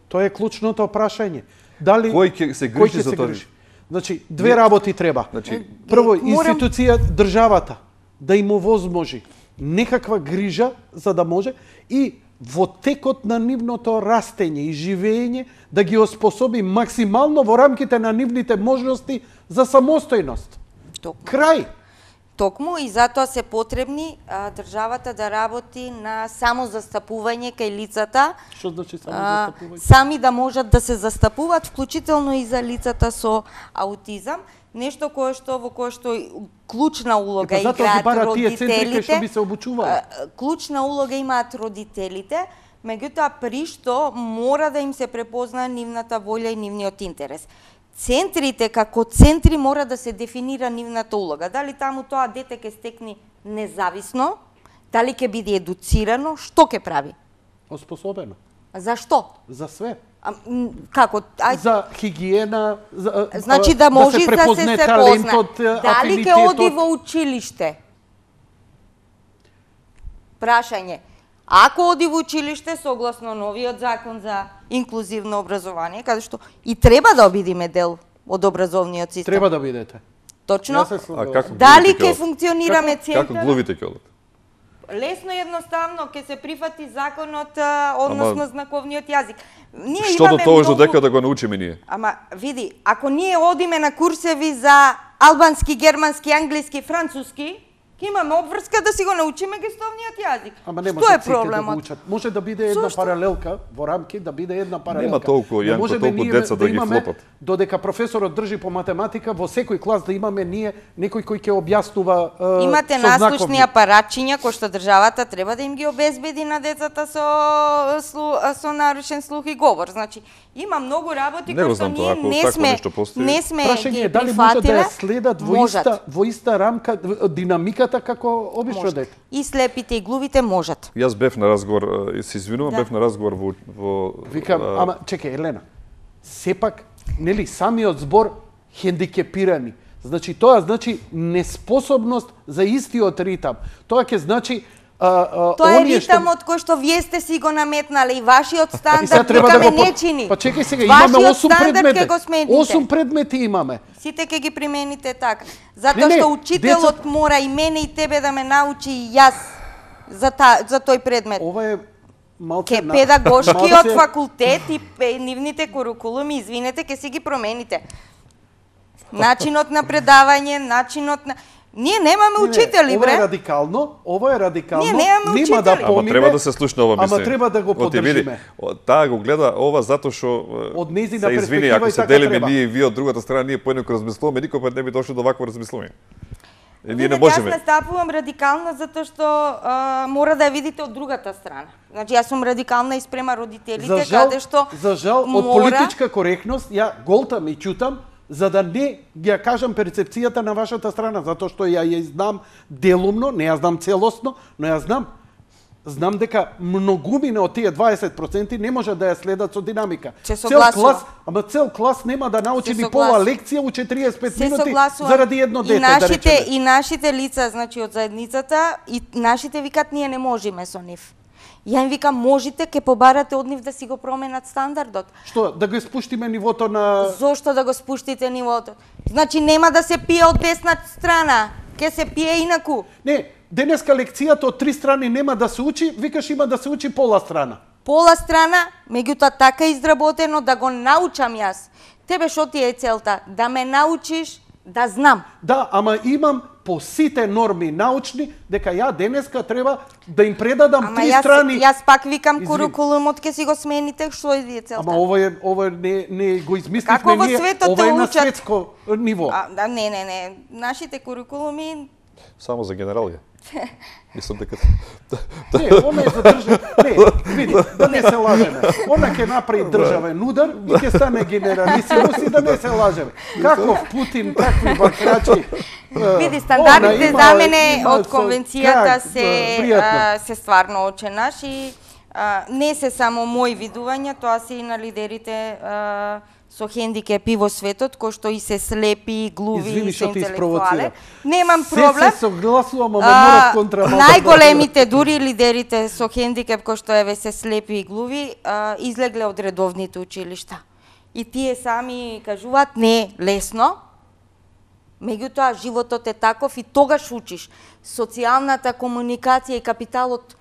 Тоа е клучното прашање. Дали Кој ќе се кој грижи ќе за се тоа? грижи? Значи, две работи треба. Значи, Прво, Морам- институција, државата, да им овозможи некаква грижа, за да може, и во текот на нивното растење и живење, да ги оспособи максимално во рамките на нивните можности за самостојност. Токму. Крај. Токму и затоа се потребни државата да работи на самозастапување кај лицата, Што значи самозастапување? сами да можат да се застапуваат, вклучително и за лицата со аутизам, нешто во кое што клучна улога Затоа ги играат бараат тие центри кај родителите. што би се обучувале. Клучна улога имаат родителите, меѓутоа при што мора да им се препознае нивната волја и нивниот интерес. Центрите како центри мора да се дефинира нивната улога. Дали таму тоа дете ќе стекне независно, дали ќе биде едуцирано, што ќе прави? Оспособено. Зашто? За све. Како? За хигиена, Значи да може се да се препозне се талентот, позна. Дали ќе оди афинитетот. во училиште? Прашање. Ако оди во училиште согласно новиот закон за инклузивно образование, каде што и треба да бидеме дел од образовниот систем. Треба да бидете. Точно. Јас се А согласувам. како Дали глувите ќе ќе функционираме Како центар? глувите ќе одат? Лесно и едноставно ќе се прифати законот, односно знаковниот јазик. Ние Што до имаме тоа многу- дека да го научиме ние? Ама види, ако ние одиме на курсеви за албански, германски, англиски, француски, ќе имаме обврска да си го научиме гестовниот јазик. Ама не Што може е сите да го проблемот? учат. Може да биде една Зошто? паралелка во рамки, да биде една паралелка. Нема толку, Не Јанко, можеме толку ние деца да ги имаме, флопат. Додека професорот држи по математика, во секој клас да имаме ние некој кој ќе објаснува Имате со наслушни знаковни. апаратчиња кои што државата треба да им ги обезбеди на децата со нарушен слух и говор. Значи, има многу работи Не го кои што знам тоа, ние ако не такво сме нешто постои. не сме Прашање ги е дали може да прифатиле. ја следат во иста рамка динамиката како обично Може. дете. И слепите и глувите можат. Јас бев на разговор, се извинувам, Да. бев на разговор во Викам, ама чекај, Елена, сепак, нели, самиот збор хендикепирани. Значи, тоа значи неспособност за истиот ритам. Тоа ќе значи Тоа е ритамот кој што вие сте си го наметнале и вашиот И сега стандард треба дека да ме го не чини. Па чекај сега, имаме Вашиот 8 стандард предмети. ќе го смените. 8 предмети имаме. Сите ќе ги примените така. Затоа Не, што учителот мора и мене и тебе да ме научи и јас за тој предмет. Ова е малце Ке педагошкиот малце- факултет и нивните курикулуми, извинете, ке си ги промените. Начинот на предавање, начинот на... Ние немаме учители, ова бре. е радикално, Ние немаме нема да учители. Ама помине. треба да се слушне ова мислење. Ама треба да го поддржиме. Таа го гледа ова затоа што Од нејзина се извини, перспектива ако и се така делиме треба. ние и вие од другата страна, ние поеднакво размислуваме, никој пат не би дошло до вакво размислување. Ние не Видете, можеме. Јас настапувам радикална затоа што мора да ја видите од другата страна. Значи јас сум радикална и спрема родителите, каде што за жал, од политичка коректност, ја голтам и чутам, за да не ја кажам перцепцијата на вашата страна, затоа што ја знам делумно, не ја знам целосно, но ја знам. Знам дека многумина од тие 20% не може да ја следат со динамика. Цел клас нема да научи ни пола лекција у 45 минути заради едно дете, да речеме. И нашите лица, значи од заедницата, и нашите викат ние не можеме со нив. Ја им викам, можете, ке побарате од нив да си го променат стандардот. Што, да го спуштиме нивото на... Зошто да го спуштите нивото? Значи нема да се пие од десна страна, ке се пие инаку. Не, денеска лекцијата од 3 страни нема да се учи, викаш има да се учи пола страна. Пола страна, меѓутоа така изработено да го научам јас. Тебе што ти е целта? Да ме научиш да знам. Да, ама имам по сите норми научни, дека ја денеска треба да им предадам 3 страни. Јас пак викам курикулумот ке си го смените, што е вие целта? Ама ова не го измисливме ние, ова е на светско ниво. Не, нашите курикулуми само за генералија. Мислам дека Не, она е за држава. Не, види, да не се лажеме. Она ќе направи државен удар и ќе стане генералисимус и да не се лажеме. Каков Путин, какви бакрачи. Види, стандардите за мене од конвенцијата се стварно оченаш и не се само мои видувања, тоа се и на лидерите со хендикепи во светот, кои што и се слепи, глуви и се интелектуале. Немам проблем. Се согласувам, ама морав контрамал. Најголемите, дури лидерите со хендикеп, кои што еве се слепи и глуви, излегле од редовните училишта. И тие сами кажуваат, не е лесно, меѓутоа животот е таков и тогаш учиш. Социјалната комуникација и капиталот,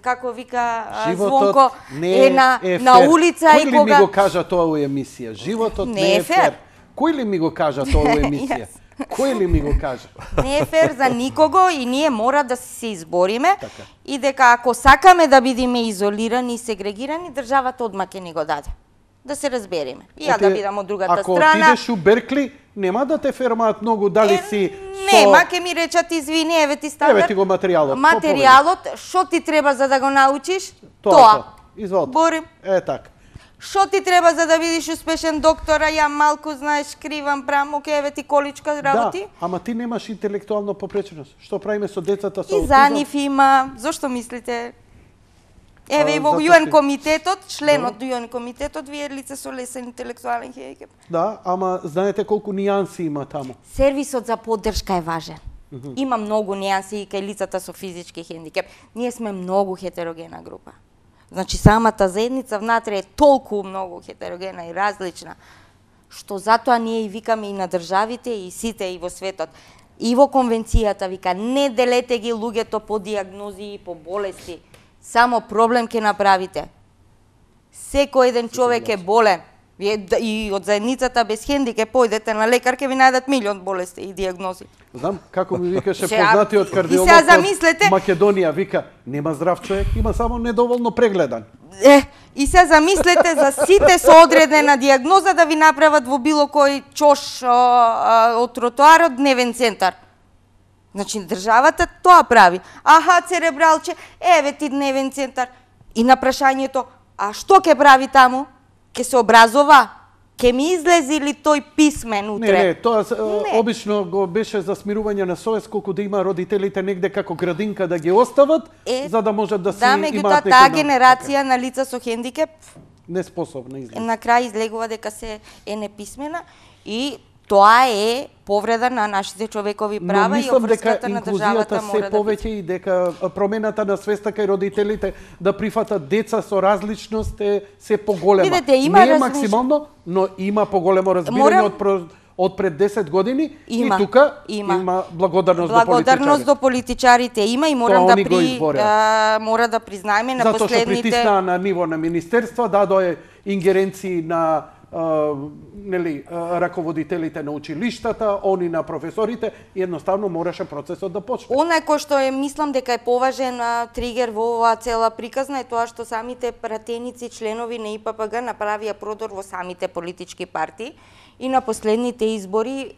како вика Звонко, е на улица и кога... Кој ли ми го кажа тоа во емисија? Животот не е фер. Кој ли ми го кажа тоа во емисија? Кој ли ми го кажа? Не е фер за никого и ние мора да се избориме и дека ако сакаме да бидеме изолирани и сегрегирани, државата одма ќе ни го даде. Да се разбереме. И ја да бидам од другата страна. Ако отидеш у Беркли, нема да те фермаат многу дали си... Нема, ке ми речат извини, еве ти стандард. Еве ти го материјалот. Материјалот, што ти треба за да го научиш? Тоа. Изволте. Борим. Така. Што ти треба за да бидеш успешен доктор, а ја малку знаеш кривам прамо, ке еве ти количка работи? Да, ама ти немаш интелектуална попреченост. Што правиме со децата со аутизам? И за нив има. Зошто мислите? Еве и во ЮН комитетот, членот ЮН комитетот, вие лице со лесен интелектуален хендикеп. Да, ама знаете колку нијанси има таму. Сервисот за поддршка е важен. Има многу нијанси и кај лицата со физички хендикеп. Ние сме многу хетерогена група. Значи самата заедница внатре е толку многу хетерогена и различна, што затоа ние и викаме и на државите и сите и во светот. И во конвенцијата вика не делете ги луѓето по диагнози и по болести. Само проблем ќе направите. Секој еден човек е болен. Вие и од заедницата без хендикеп појдете на лекар, ќе ви најдат милион болести и диагнози. Знам, како ми викаше познатиот кардиолог од Македонија, вика, нема здрав човек, има само недоволно прегледан. И се замислете за сите со одредена диагноза да ви направат во било кој чош од тротоарот дневен центар. Значи, државата тоа прави. Аха, церебралче, еве ти дневен центар. И на прашањето, а што ќе прави таму? Ке се образова? Ке ми излези ли тој писмен утре? Не, тоа обично го беше за смирување на совест, колку да има родителите негде како градинка да ги остават, за да можат да си имаат некој... Да, таа генерација на лица со хендикеп неспособна излезе. На крај излегува дека се е неписмена и тоа е повреда на нашите човекови права и обврската на државата мора да биде. Повеќе и дека промената на свеста кај родителите да прифатат деца со различност е се поголема. Видете, има не е максимално, но има поголемо разбирање од пред 10 години и тука има благодарност до политичарите. Благодарност до политичарите има и мора да признаеме на последните... Затоа што притисна на ниво на министерства, дадоe ингеренции на нели раководителите на училиштата, они на професорите, и едноставно мораше процесот да почне. Онај кој што мислам дека е поважен тригер во оваа цела приказна е тоа што самите пратеници членови на ИППГ направија продор во самите политички партии и на последните избори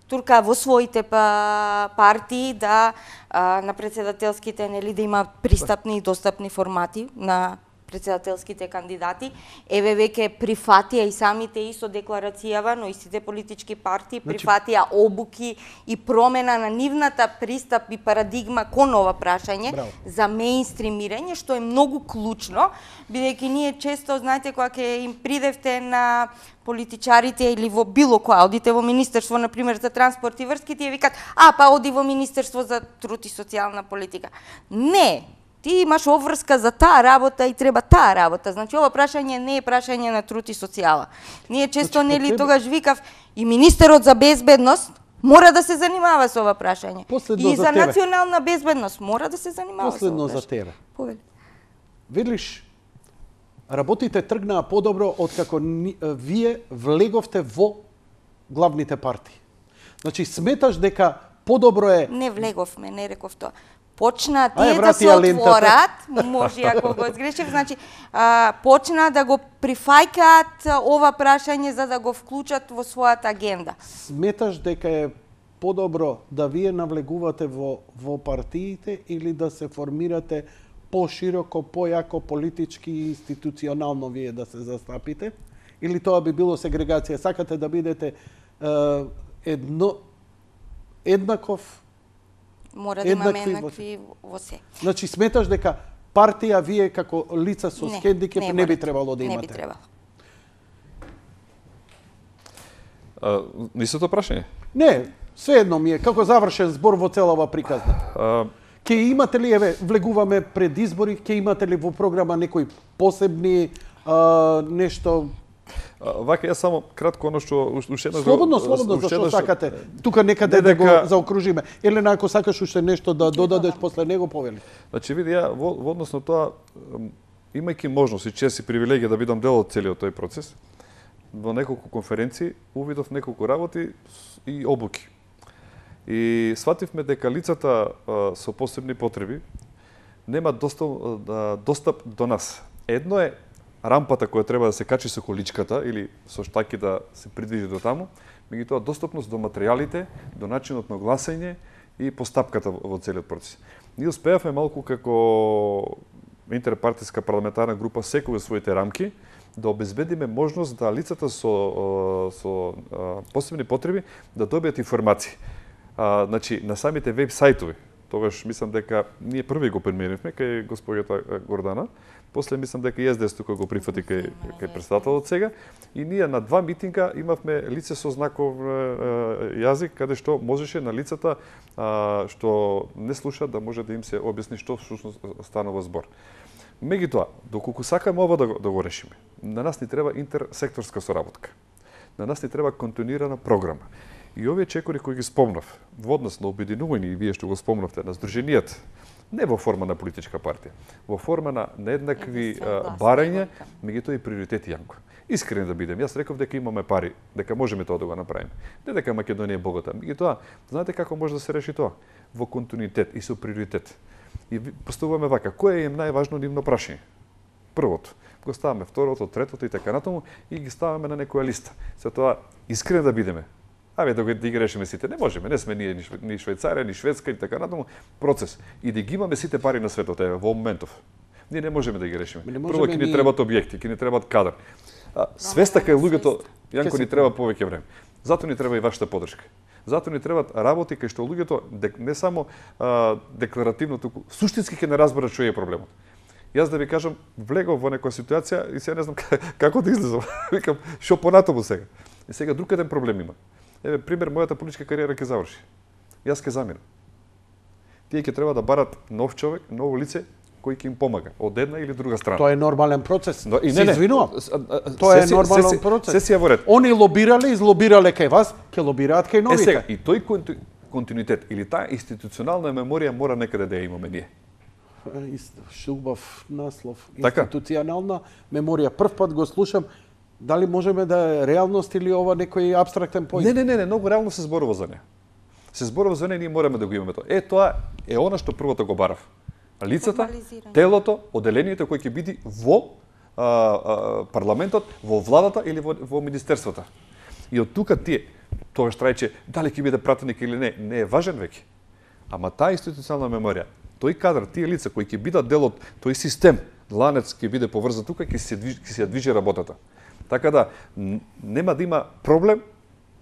турка во своите партии да на председателските нели да има пристапни и достапни формати на председателските кандидати. Еве веќе прифатија и самите исто декларацијава, но истите политички партии прифатија обуки и промена на нивната пристап и парадигма кон ова прашање за меинстримирање, што е многу клучно, бидејќи ние често, знаете, кога ќе им придевте на политичарите или во било која, одите во Министерство, например, за транспорт и врски, тие викат, па оди во Министерство за труд и социјална политика. Не! Ти имаш обврска за таа работа и треба таа работа. Значи, ова прашање не е прашање на труд и социјала. Ние често, нели, тогаш викав, и министерот за безбедност мора да се занимава со ова прашање. И за национална безбедност мора да се занимава со ова прашање. Последно за тебе. Видиш, работите тргнаа подобро откако вие влеговте во главните партии. Значи, сметаш дека подобро е... Не влеговме, не реков тоа. Почна тие да се отворат, може ако го сгрешив, значи почна да го прифајкаат ова прашање за да го вклучат во својата агенда. Сметаш дека е подобро да вие навлегувате во партиите или да се формирате пошироко, појако политички и институционално вие да се застапите? Или тоа би било сегрегација? Сакате да бидете еднаков? Мора да имаме еднакви во се. Значи, сметаш дека партија вие како лица со хендикеп не би требало да имате? Не би требало. Не истото прашање? Не, svejedno ми е како завршен збор во целава приказна. Ке имате ли, еве, влегуваме пред избори, ке имате ли во програма некои посебни нешто? Вака, јас само кратко оно што уште еднаш... Слободно, зашто сакате? Тука некаде да го заокружиме. Елена, ако сакаш уште нешто да додадеш после него, повели. Значи, види, ја во однос на тоа, имајќи можност и чест и привилегија да бидам дел од целиот тој процес, во неколку конференции увидов неколку работи и обуки. И свативме дека лицата со посебни потреби нема достап до нас. Едно е рампата која треба да се качи со количката или со штаки да се придвижи до таму, меѓутоа достапност до материјалите, до начинот на гласање и постапката во целиот процес. Ние успеавме малку како интерпартиска парламентарна група секој во своите рамки да обезбедиме можност да лицата со посебни потреби да добијат информации. Значи, на самите веб сајтови, тогаш мислам дека ние први го преминевме кај госпоѓата Гордана, после мислам дека и СДС тука го прифати кај председателот сега, и ние на 2 митинга имавме лице со знаков јазик, каде што можеше на лицата што не слушаат да може да им се објасни што всушност станува збор. Меѓутоа, доколку сакаме ова да го решиме, на нас ни треба интерсекторска соработка. На нас ни треба континуирана програма. И овие чекори кои ги спомнав, во однос на обединување, и вие што го спомнавте, на здруженијата, не во форма на политичка партија, во форма на еднакви барања, меѓутоа и приоритети, Јанко. Искрен да бидем, јас реков дека имаме пари, дека можеме тоа да го направиме. Не дека Македонија е богата, меѓутоа, знаете како може да се реши тоа? Во континуитет и со приоритет. И поставуваме вака, кое е најважно нивно прашање? Првото, го ставаме второто, третото и така натаму и ги ставаме на некоја листа. За тоа искрен да бидеме. Да ги решиме сите, не можеме, не сме ние ни Швајцарија, ни Шведска и така натаму, процес. И да ги имаме сите пари на светот, во моментов. Ние не можеме да ги решиме. Прво ќе ни требаат објекти, ќе ни требаат кадар. Свеста кај луѓето, Јанко, ни треба повеќе време. Зато ни треба и вашата поддршка. Зато ни требаат работи кај што луѓето не само декларативно, туку суштински ќе не разберат што е проблемот. Јас да ви кажам, влегов во некоја ситуација и сега не знам како да излезам. Викам, што понатаму сега? И сега друг еден проблем има. Еве, пример, мојата политичка кариера ќе заврши. Јас ќе заминам. Тие ќе треба да барат нов човек, ново лице, кој ќе им помага, од една или друга страна. Тоа е нормален процес. Се извинувам. Тоа е нормален процес. Се во ред. Они лобирале, излобирале кај вас, ќе лобираат кај новите. Сега, и тој континуитет или таа институционална меморија мора некаде да ја имаме ние. Убав наслов. Институционална меморија. Прв пат го слушам. Дали можеме да е реалност или ова некој абстрактен поим? Не, многу реално се зборува за неа. Се зборува за неа, ние мораме да го имаме тоа. Тоа е она што првото го барав. Лицата, телото, оделението кој ќе биде во парламентот, во владата или во министерствата. И од тука тие, тоа што рече, дали ќе биде пратеник или не е важен веќе. Ама таа институционална меморија, тој кадар, тие лица кои ќе бидат дел од тој систем, ланец ќе биде поврзан тука, ќе се движи работата. Така да, нема да има проблем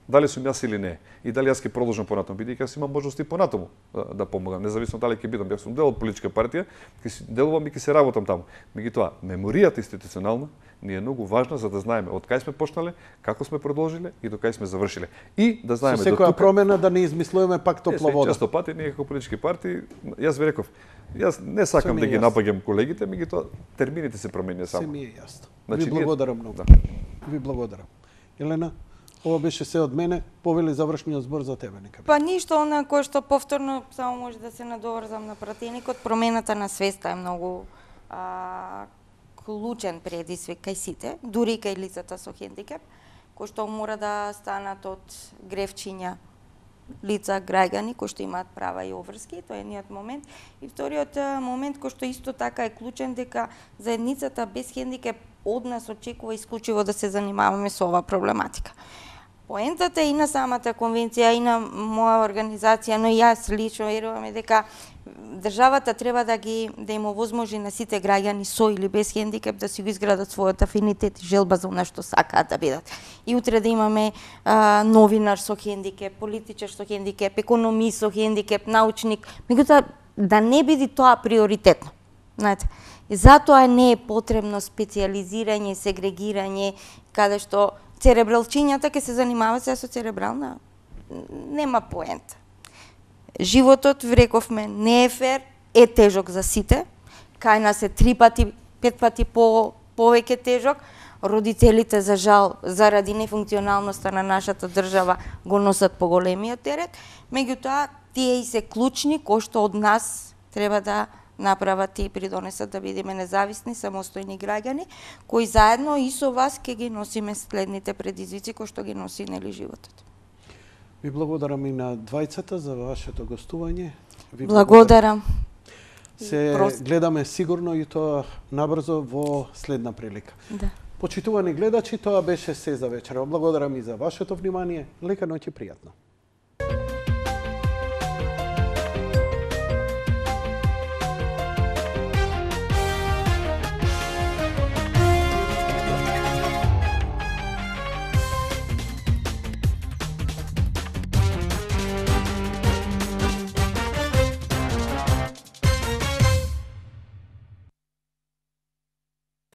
дали сум јас или не. И дали јас ќе продолжам понатаму, бидејќи јас имам можности понатаму да помогам, независно дали ќе бидам. Јас сум дел од политичка партија, ќе си делувам и ќе се работам таму. Меѓутоа, меморијата институционална ни е многу важна за да знаеме од кај сме почнале, како сме продолжиле и до кај сме завршиле. И да знаеме со секоја промена да не измислуваме пак топла вода. Често пати ние како политички партии, јас ви реков, јас не сакам да ги напаѓам колегите, меѓутоа термините се променија само. Се ми е јасно. Ви благодарам многу. Ви благодарам. Елена, ова беше се од мене. Повели завршниот збор за тебе, нека. Па ништо, она кое што повторно само може да се надоврзам на пратеникот, промената на свеста е многу клучен предизвик кај сите, дури и кај лицата со хендикеп, кои што мора да станат од гревчиња лица, граѓани кои што имаат права и обврски, тоа е едниот момент. И вториот момент кој што исто така е клучен, дека заедницата без хендикеп од нас очекува исклучиво да се занимаваме со оваа проблематика. Поентата и на самата конвенција и на моја организација, но и јас лично веруваме дека државата треба да им овозможи на сите граѓани со или без хендикеп да си го изградат својот афинитет и желба за она што сакаат да бидат. И утре да имаме новинар со хендикеп, политичар со хендикеп, економист со хендикеп, научник, меѓутоа да не биде тоа приоритетно. Знаете, и затоа не е потребно специјализирање, сегрегирање, каде што церебралчињата ќе се занимаваат се со церебрална, нема поента. Животот, рековме, не е фер, е тежок за сите. Кај нас е 3 пати, 5 пати повеќе тежок. Родителите, за жал, заради нефункционалноста на нашата држава, го носат поголемиот терет. Меѓутоа, тие и се клучни, кои што од нас треба да направат и придонесат да бидеме независни, самостојни граѓани, кои заедно и со вас ќе ги носиме следните предизвици кои што ги носи нели животот. Ви благодарам и на двајцата за вашето гостување. Благодарам. Се гледаме сигурно и тоа набрзо во следна прилика. Да. Почитувани гледачи, тоа беше се за вечера. Благодарам и за вашето внимание. Лека ноќ и пријатно.